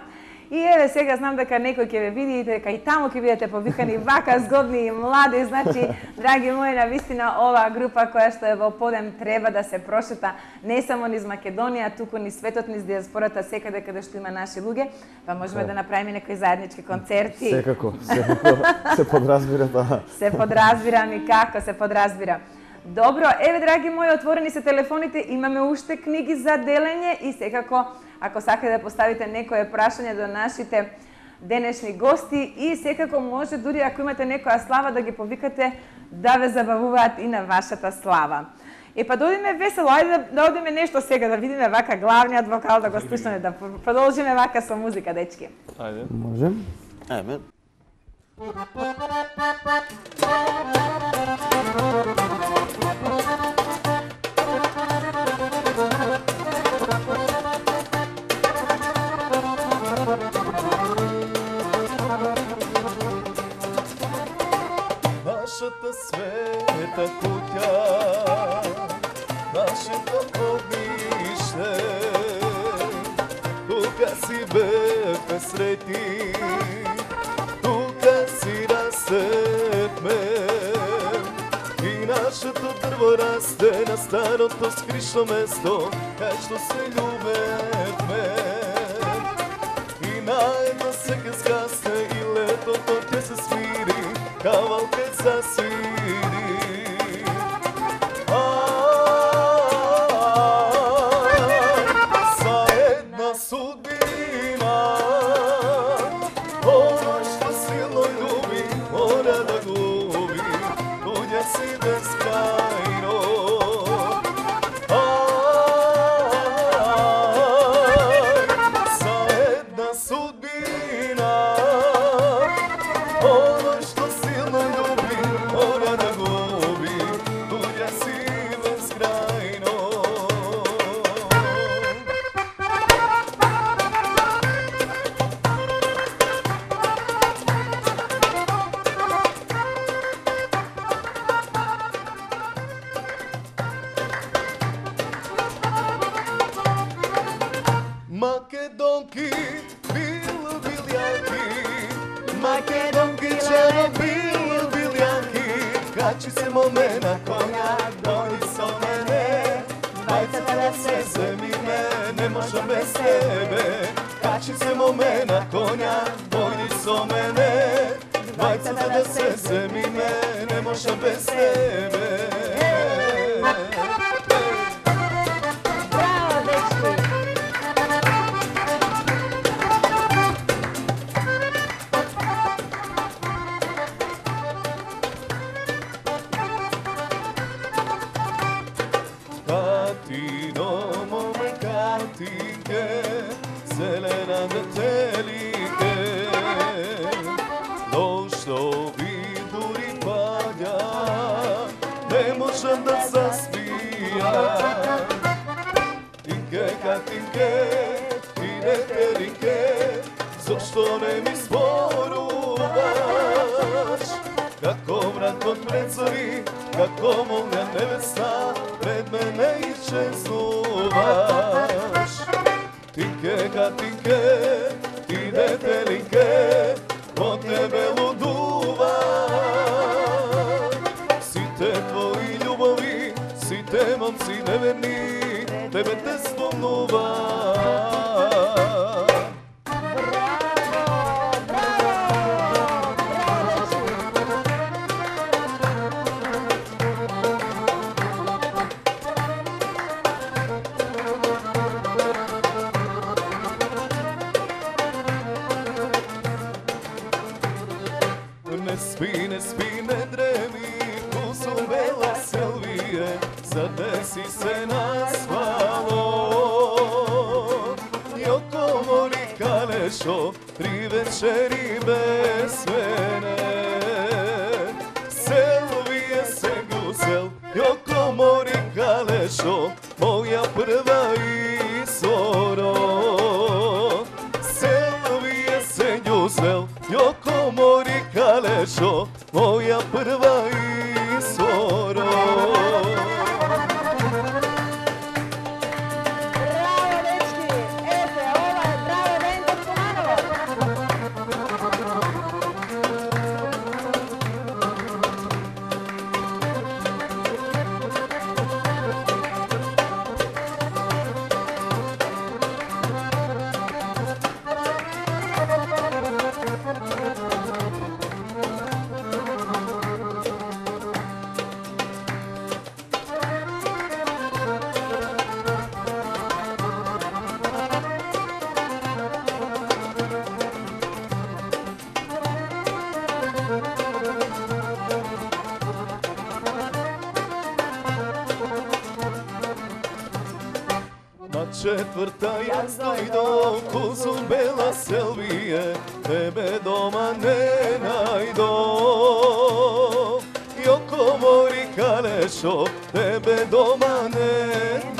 И еве сега знам дека некој ќе ве види, дека и таму ќе бидете повикани вака згодни и млади, значи, драги мои, навистина оваа група која што е во подем треба да се прошета не само низ Македонија, туку низ светот, низ диаспората, секаде каде што има наши луѓе, па можеме да направиме некои заеднички концерти. Секако, секако се подразбира, да. Се подразбира, никако се подразбира. Добро, еве, драги мои, отворени се телефоните, имаме уште книги за делење и секако, ако сакате да поставите некое прашање до нашите денешни гости и секако може, дури ако имате некоја слава, да ги повикате да ве забавуваат и на вашата слава. Е, па да одиме весело, ајде да, да одиме нешто сега, да видиме вака главниот вокал, да го слушаме, да продолжиме вака со музика, дечки. Ајде. Можем? Ајде. Нашата света куќа, нашето огниште, тука си бевме среќни, тука си растевме. И нашето дрво расте на старото скришно место, кај што се љубевме. И најдно се ке згасне и летото ќе се смири, кавалкът засвири. За една судбина, оно што силно љуби, мора да губи, туѓа си безкрајно. За една судбина, оно што силно љуби, мора да губи, туѓа си безкрајно. Македонки, бил билјанки, Македонки, черно бил билјанки, качи се моме на коња, дојди со мене, бајцата да се земиме, не можам без тебе. Качи се моме на коња, дојди со мене, бајцата да се земиме, не можам без тебе. Браво, дечки! детелинке, зелена детелинке, дошто ви дури паѓа, не можам да заспијам. Тинке, катинке, ти детелинке, зошто не ми зборуваш? Како мрак од прецори, како молња невеста, пред мене исчезнуваш. Тинке, катинке, ти детелинке, по тебе лудувам. Сите твои љубови, сите момци неверни, тебе те спомнувам. Не спи, не спи, не дреми, кусумбела Селвие, задеси се на спало. Јоко мори калешо, три вечери без мене. Селвие се гусел, јоко мори калешо, моја прва изоро. Селвие се гусел, јоко мори калешо, моја прва изоро. Браво, дечки! Ете, ова е браво бенд од Куманово. На четврта јас дојдов, кусумбела Селвие, тебе дома не најдов. Јоко мори калешо, тебе дома не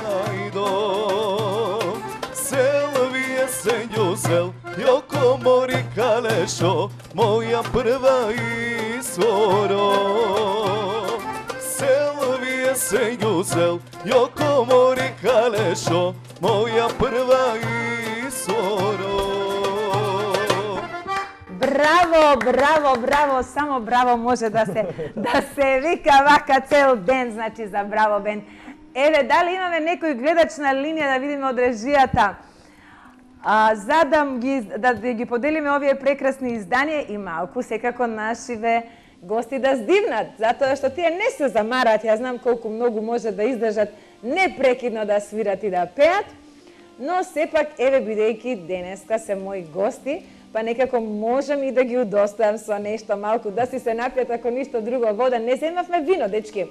најдов. Селвие се њусел, јоко мори калешо, моја прва изоро. Селвие се њусел, јоко мори калешо, моја прва изоро. Браво, браво, браво, само браво може да се да се вика вака цел ден, значи за Браво бенд. Еве, дали имаме некој гледач на линија да видиме од режијата? А, за да ги, да ги поделиме овие прекрасни изданија и малку секако нашиве гости да здивнат, затоа што тие не се замарат, ја знам колку многу може да издржат непрекидно да свират и да пеат, но сепак, еве, бидејќи денеска се мои гости, па некако можам и да ги удостојам со нешто малку, да си се напијат, ако ништо друго, вода. Не земавме вино, дечки.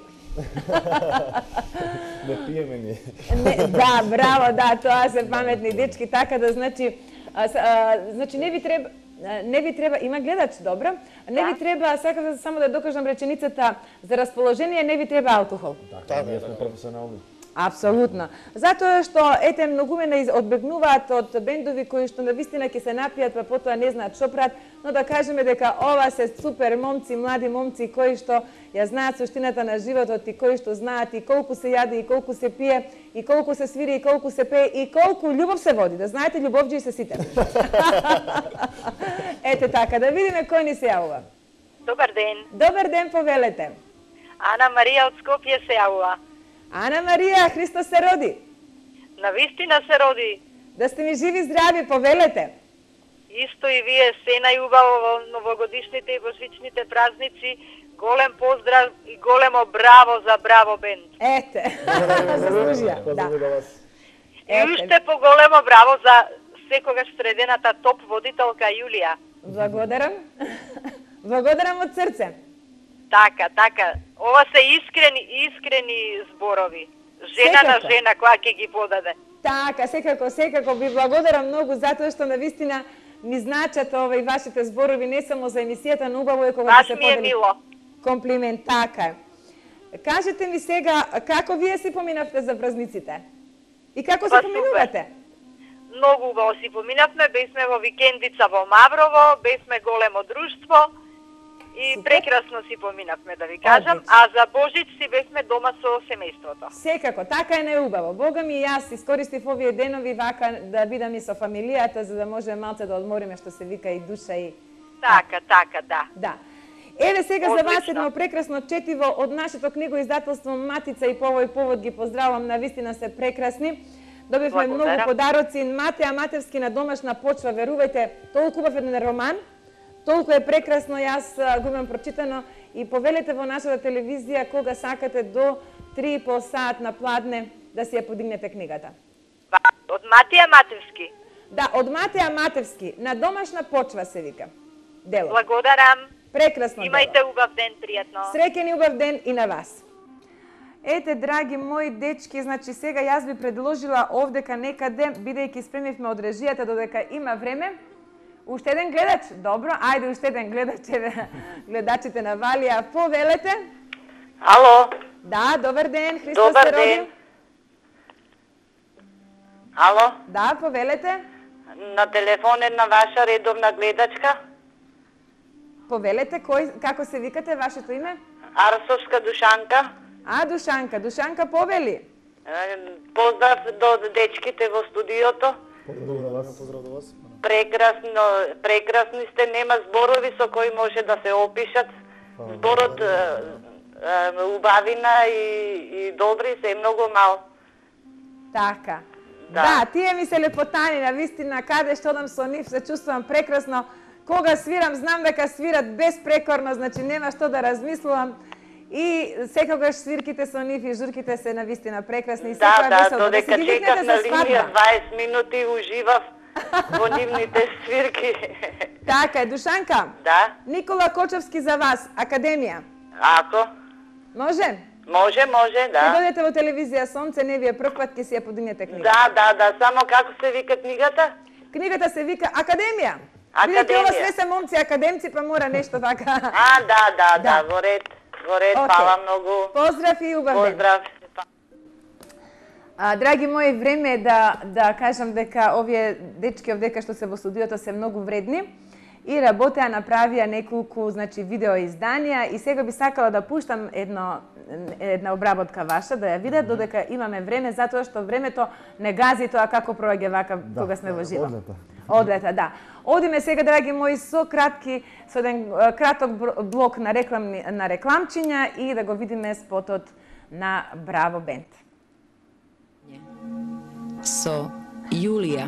Не пиеме ни. Не, да, браво, да, тоа се паметни дечки, така да, значи, а, а, значи не ви треба, не ви треба, има гледач, добро, не ви треба, сакам само да докажам реченицата, за расположение не ви треба алкохол. Така, ние сме професионални. Апсолутно. Затоа што, ете, многумена одбегнуваат од бендови кои што навистина ќе се напијат, па потоа не знаат што прават, но да кажеме дека ова се супер момци, млади момци кои што ја знаат суштината на животот и кои што знаат и колку се јаде, и колку се пие, и колку се свири, и колку се пее, и колку љубов се води. Да знаете, љубовџи се сите. Ете така, да видиме кој ни се јавува. Добар ден. Добар ден, повелете. Ана Марија од Скопје се јавува. Ана Марија, Христос се роди. Навистина се роди. Да сте ми живи здрави, повелете. Исто и вие, се најубаво во новогодишните и божичните празници. Голем поздрав и големо браво за Браво бенд. Ете, заслужија. Да. И уште поголемо браво за секогаш средената топ водителка Јулија. Благодарам. Благодарам од срце. Така, така. Ова се искрени, искрени зборови. Жена Секако. на жена која ќе ги подаде. Така, секако, секако ви благодарам многу затоа што навистина ми значат овој вашите зборови не само за емисијата, но убаво е кога Баш се ми е подели мило. комплимент. Така е. Кажете ми сега, како вие си поминавте за празниците? И како се Па, поминувате? Многу убаво си поминавме, бесме во викендица во Маврово, бесме големо друштво и Супер. прекрасно си поминавме, да ви кажам, Одлично. а за Божич си бесме дома со семејството. Секако, така е најубаво. Бога ми и јас искористив овие денови вака да бидам и со фамилијата, за да може малце да одмориме, што се вика, и душа и... Така, така, да. Да. Еве сега за вас Одлично. едно прекрасно четиво од нашето книгоиздателство Матица, и по овој повод ги поздравувам, навистина се прекрасни. Добивме Благодарам. многу подароци. Матеа Матевски на домашна почва, верувајте, толку убав еден роман, толку е прекрасно, јас а, го имам прочитано, и повелете во нашата телевизија кога сакате до три и пол саат на пладне да си ја подигнете книгата. Од Матија Матевски. Да, од Матеа Матевски, на домашна почва се вика. Дело. Благодарам. Прекрасно Имајте дело. убав ден, пријатно. Среќен и убав ден и на вас. Ете, драги мои дечки, значи сега јас би предложила овдека некаде, бидејќи спремивме од режијата додека има време, уште еден гледач. Добро, ајде уште еден гледач, еве гледачите на Валија, повелете. Ало. Да, добар ден, Христос Добар се роди. ден. Ало. Да, повелете. На телефон една ваша редовна гледачка. Повелете, кој, како се викате, вашето име? Арсовска Душанка. А, Душанка, Душанка повели. Е, Поздрав до дечките во студиото. Поздрав до вас. Поздрав до вас. Прекрасно, прекрасни сте, нема зборови со кои може да се опишат. Зборот е, е, убавина и, и добри се е многу мал. Така. Да. Да, тие ми се лепотани, на вистина, каде што одам со нив, се чувствувам прекрасно. Кога свирам, знам дека свират безпрекорно, значи нема што да размислувам. И секогаш свирките со нив и журките се на вистина прекрасни. И Да, секоја да, весело. додека си ги чекав викнете на за линија свадба. дваесет минути уживав во нивните свирки. Така е, Душанка. Да. Никола Кочевски за вас, Академија. Ако? Може? Може, може, Ќе да. дојдете во телевизија Сонце, не ви е прв пат, ќе си ја подигнете книга. Да, да, да, само како се вика книгата? Книгата се вика Академија. Академија. Бидејќи ова све се момци академци, па мора нешто така. А, да, да, да, Да. во ред, во ред, Океј. фала многу. Поздрав и убав ден. Поздрав. А, драги мои, време е да, да кажам дека овие дечки овдека што се во студиото се многу вредни и работеа, направија неколку, значи, видео изданија, и сега би сакала да пуштам едно, една обработка ваша, да ја видат, додека имаме време, затоа што времето не гази тоа како проаѓа вака кога сме во живо. Одлета. Одлета, да. Одиме сега, драги мои, со кратки, со еден е, краток бр- блок на рекламни на рекламчиња и да го видиме спотот на Браво Бенд. Со Јулија.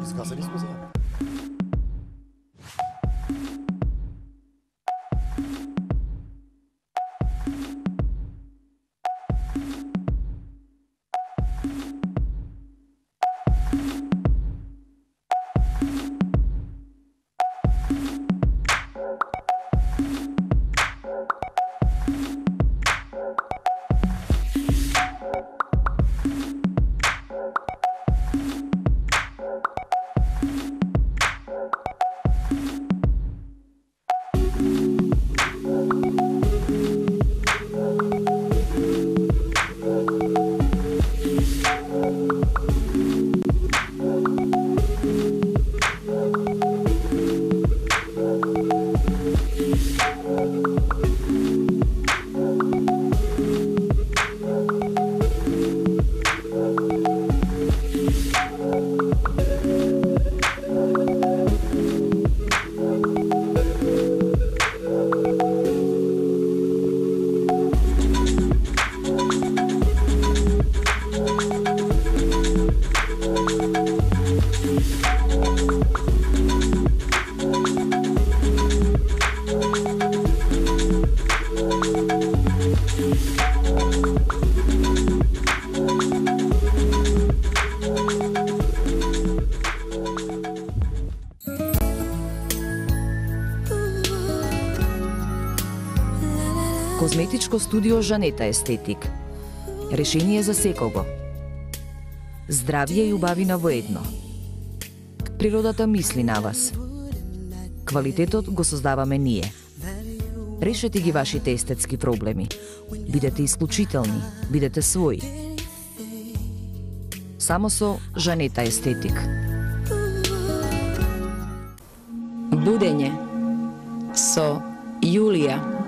Исказали сме сега. Козметичко студио Жанета Естетик. Решение за секого. здравје и убавина во едно. Природата мисли на вас. Квалитетот го создаваме ние. Решете ги вашите естетски проблеми. Бидете исклучителни, бидете своји. Само со Жанета Естетик. Будење со Јулија.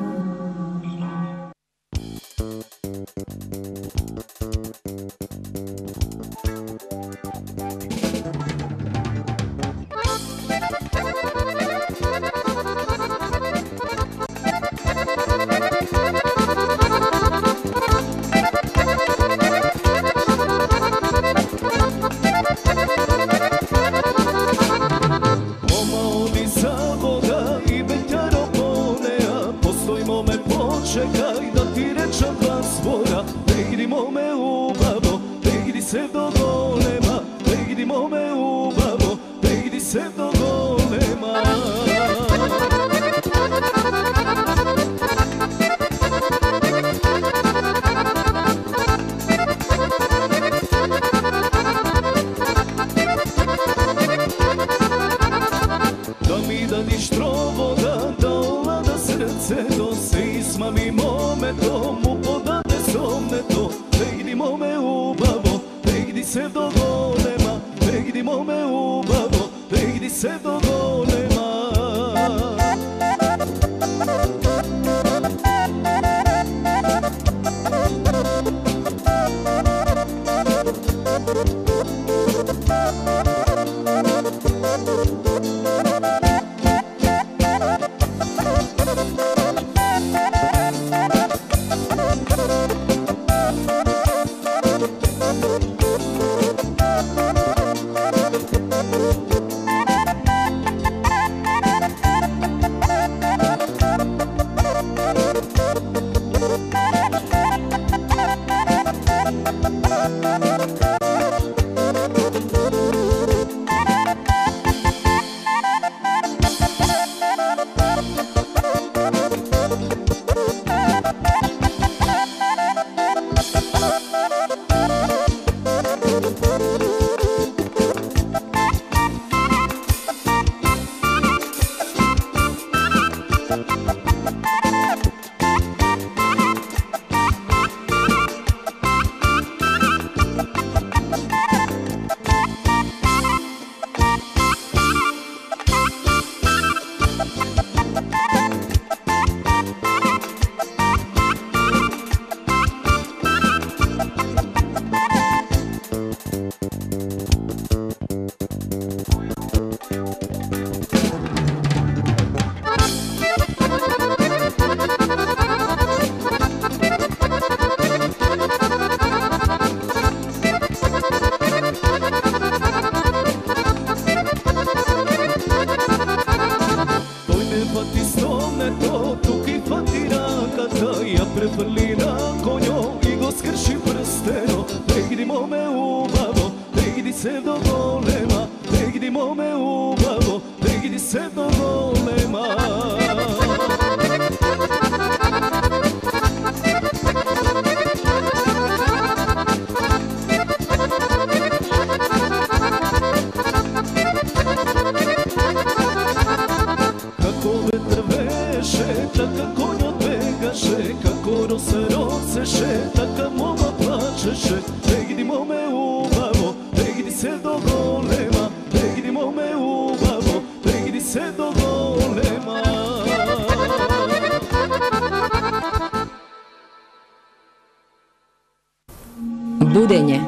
Будење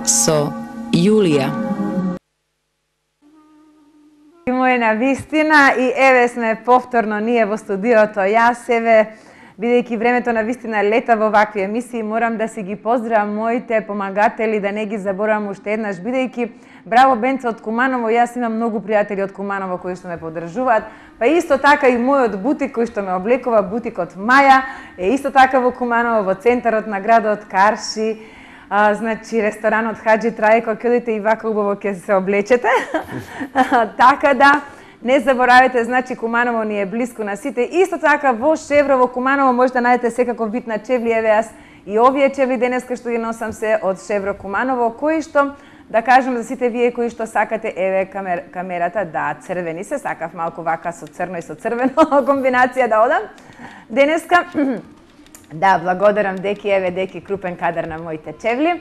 со Јулија. Мој на вистина и еве сме повторно ние во студиото. Јас еве, бидејќи времето на вистина лета во вакви емисии, морам да си ги поздравам моите помагатели, да не ги заборавам уште еднаш, бидејќи Браво Бенце од Куманово, јас имам многу пријатели од Куманово кои што ме поддржуваат, па исто така и мојот бутик кој што ме облекува, бутикот Маја, е исто така во Куманово, во центарот на градот Карши. А, значи, ресторанот Хаджи Трајко, ќе одите и вака убаво ќе се облечете. Така да, не заборавете, значи Куманово ни е блиску на сите. Исто така во Шеврово, Куманово може да најдете секаков вид на чевли. Еве јас И овие чевли денеска што ги носам се од Шевро Куманово, кои што, да кажем за сите вие кои што сакате, еве камер, камерата, да, црвени се, сакав малку вака со црно и со црвено комбинација да одам. Денеска, да, благодарам Деки, еве Деки, крупен кадар на моите чевли.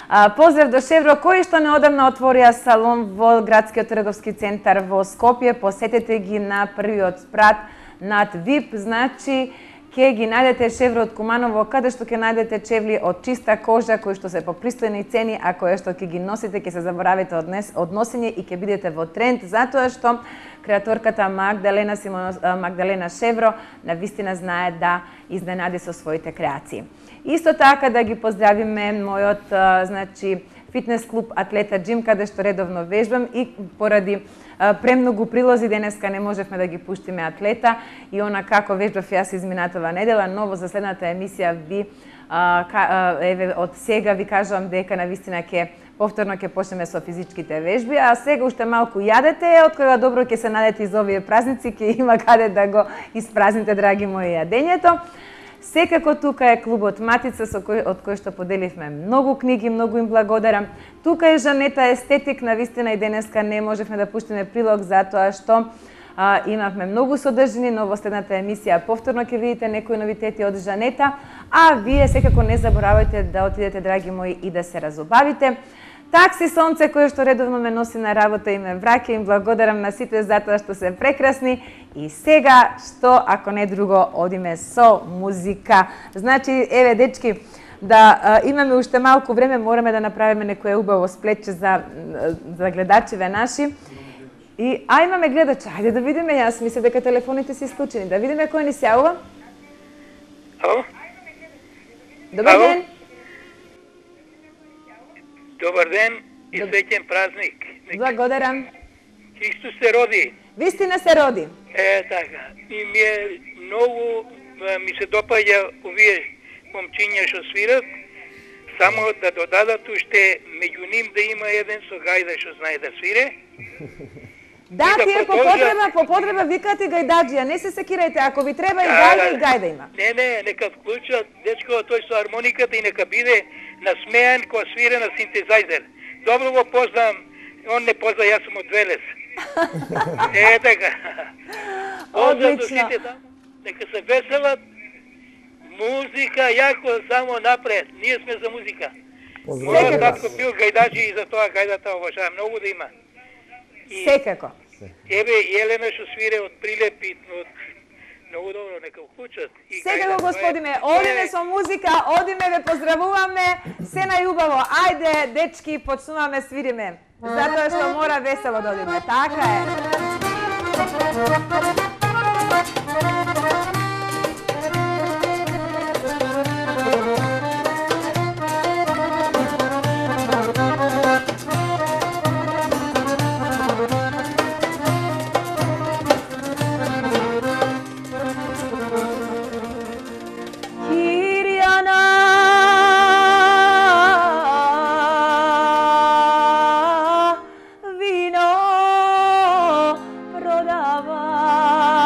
А, поздрав до Шевро, кои што неодамна отворија салон во градскиот трговски центар во Скопје, посетете ги на првиот спрат над ВИП, значи ќе ги најдете Шевро од Куманово, каде што ќе најдете чевли од чиста кожа, кои што се по пристојни цени, а кои што ќе ги носите, ќе се заборавите од, нес, од носење и ќе бидете во тренд, затоа што креаторката Магдалена, Симон, Магдалена Шевро навистина знае да изненади со своите креации. Исто така да ги поздравиме мојот значи, фитнес клуб Атлета Джим, каде што редовно вежбам и поради премногу прилози денеска не можевме да ги пуштиме Атлета и она како вежбав јас изминатава недела, но во заследната емисија ви а, ка, еве од сега ви кажувам дека навистина ќе повторно ќе почнеме со физичките вежби, а сега уште малку јадете, од кога добро ќе се најдете из овие празници, ќе има каде да го испразните, драги мои, јадењето. Секако тука е клубот Матица, со кој, од кој што поделивме многу книги, многу им благодарам. Тука е Жанета Естетик, навистина и денеска не можевме да пуштиме прилог, затоа што а, имавме многу содржини, но во следната емисија повторно ќе видите некои новитети од Жанета, а вие секако не заборавајте да отидете, драги мои, и да се разобавите. Такси Сонце, кој што редовно ме носи на работа и ме враќа, им благодарам на сите затоа што се прекрасни. И сега, што ако не друго, одиме со музика. Значи, еве дечки, да а, имаме уште малку време, мораме да направиме некое убаво сплетче за, за гледачеве наши. И, а имаме гледача, ајде да видиме, јас мислам дека телефоните се исклучени. Да видиме кој ни се јавува. Ало? Добар Ало? ден. Добар ден и среќен празник. Благодарам. Христос се роди. Вистина се роди. Е, така. И ми е многу, ми се допаѓа овие момчиња што свират, само да додадат уште меѓу ним да има еден со гајда што знае да свире. Да, да тие по потреба, по потреба викате гајдаджија, не се секирајте, ако ви треба и гајда и гајда има. Не, не, нека вклучат дечко тој со хармониката и нека биде насмеан кога свире на синтезајзер. Добро го познам, он не позна, јас сум од Велес. Е, така. Одлично. Нека се веселат, музика, јако, само напред. Ние сме за музика. Мојот татко бил гајдаджи и за тоа гајдата обожавам многу да има. И, секако. Еве, Елена што свире од Прилепи, од многу добро, нека вклучат. Секако, господине, одиме со музика, одиме, ве поздравуваме, се најубаво. Ајде, дечки, почнуваме, свириме. Затоа што мора весело да одиме. Така е. Prodava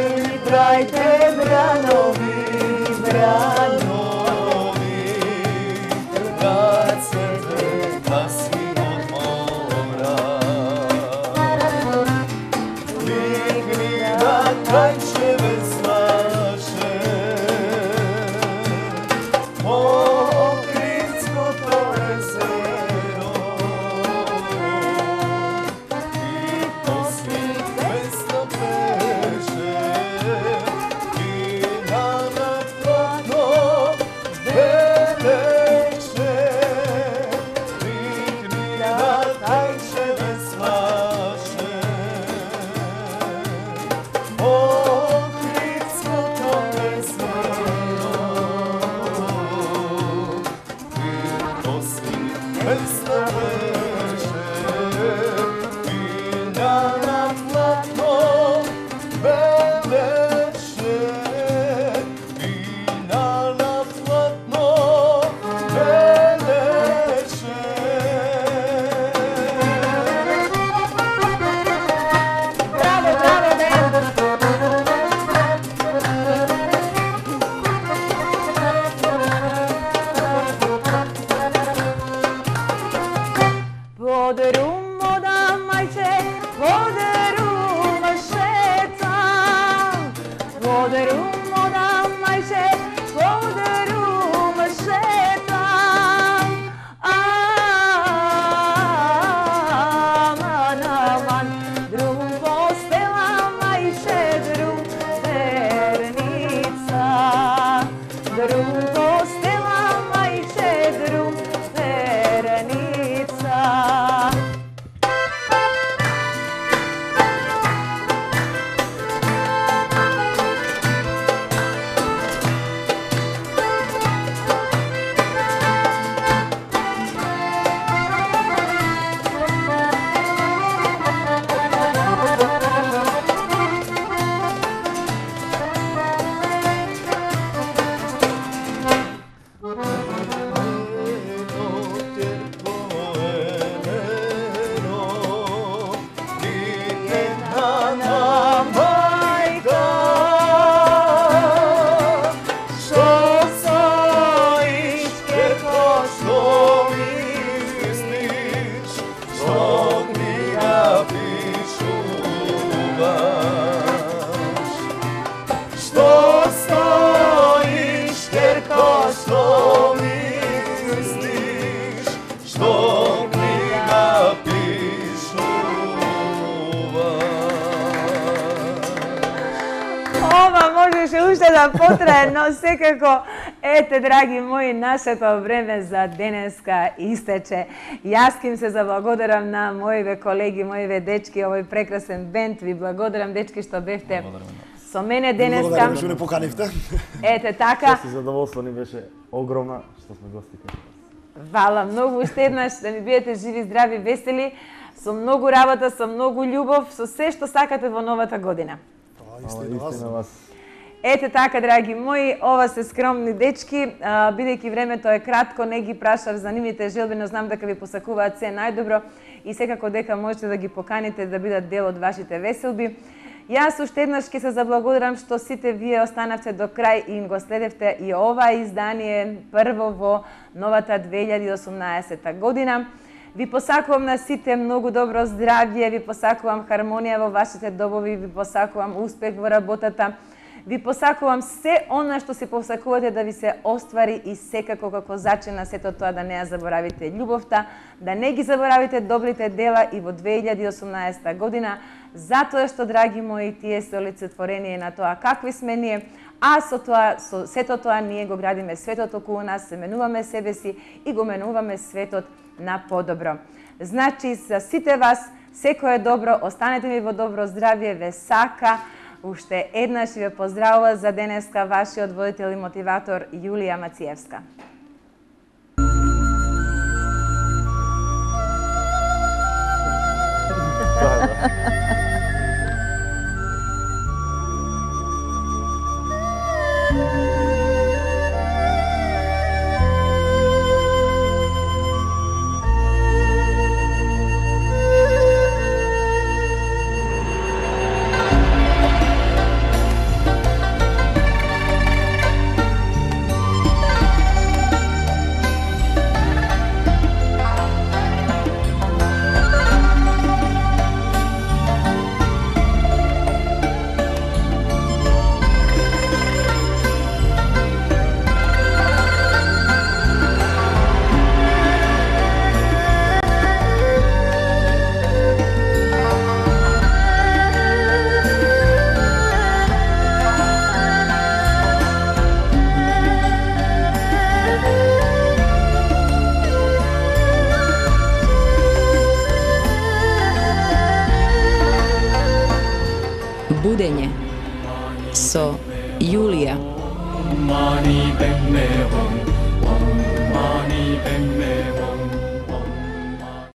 Бели брајте бранови, бранови, рацете гаси од мора. Лигни на крајчеве слаше, Охридското езеро, и посвит песна пеше, и на платно белеше, лигни на крајчеве слаше, Охридското езеро, и посвит песна пеше, и на платно белеше, и на платно белеше. Браво, браво, браво! Под румода мајче, под рума шетам, под румода мајче, под рума шетам. Аман, аман, друм постела мајче, друм верница, друм постела мајче, друм верница. Што стоиш, керко, што мислиш, што книга пишуваш. Ова можеше уште да потрае, но секако, ете, драги мои, нашето време за денеска истече. Јас ким се заблагодарам на моиве колеги, моиве дечки, овој прекрасен бенд. Ви благодарам, дечки, што бевте со мене денеска. Благодарам што не поканивте. Ете така. Чест и задоволство ни беше огромна што сме гости кај вас. Вала многу уште еднаш, да ми бидете живи, здрави, весели, со многу работа, со многу љубов, со се што сакате во новата година. Истина вас. Ете така, драги мои, ова се скромни дечки, а, бидејќи времето е кратко, не ги прашав за нивните желби, но знам дека ви посакуваат се најдобро и секако дека можете да ги поканите да бидат дел од вашите веселби. Јас уште еднаш ќе се заблагодарам што сите вие останавте до крај и го следевте и ова издание прво во новата две илјади и осумнаесета година. Ви посакувам на сите многу добро здравје, ви посакувам хармонија во вашите добови, ви посакувам успех во работата. Ви посакувам се она што се посакувате да ви се оствари и секако како зачина сето тоа да не ја заборавите љубовта, да не ги заборавите добрите дела и во две илјади и осумнаесета година, затоа што, драги мои, тие се олицетворение на тоа какви сме ние, а со тоа, со сето тоа ние го градиме светот околу нас, се менуваме себе си и го менуваме светот на подобро. Значи, за сите вас, секое добро, останете ми во добро здравје, ве сака. Уште еднаш ве поздравува за денеска вашиот водител и мотиватор Јулија Мациевска. Будење со Јулија. Mani ben me hon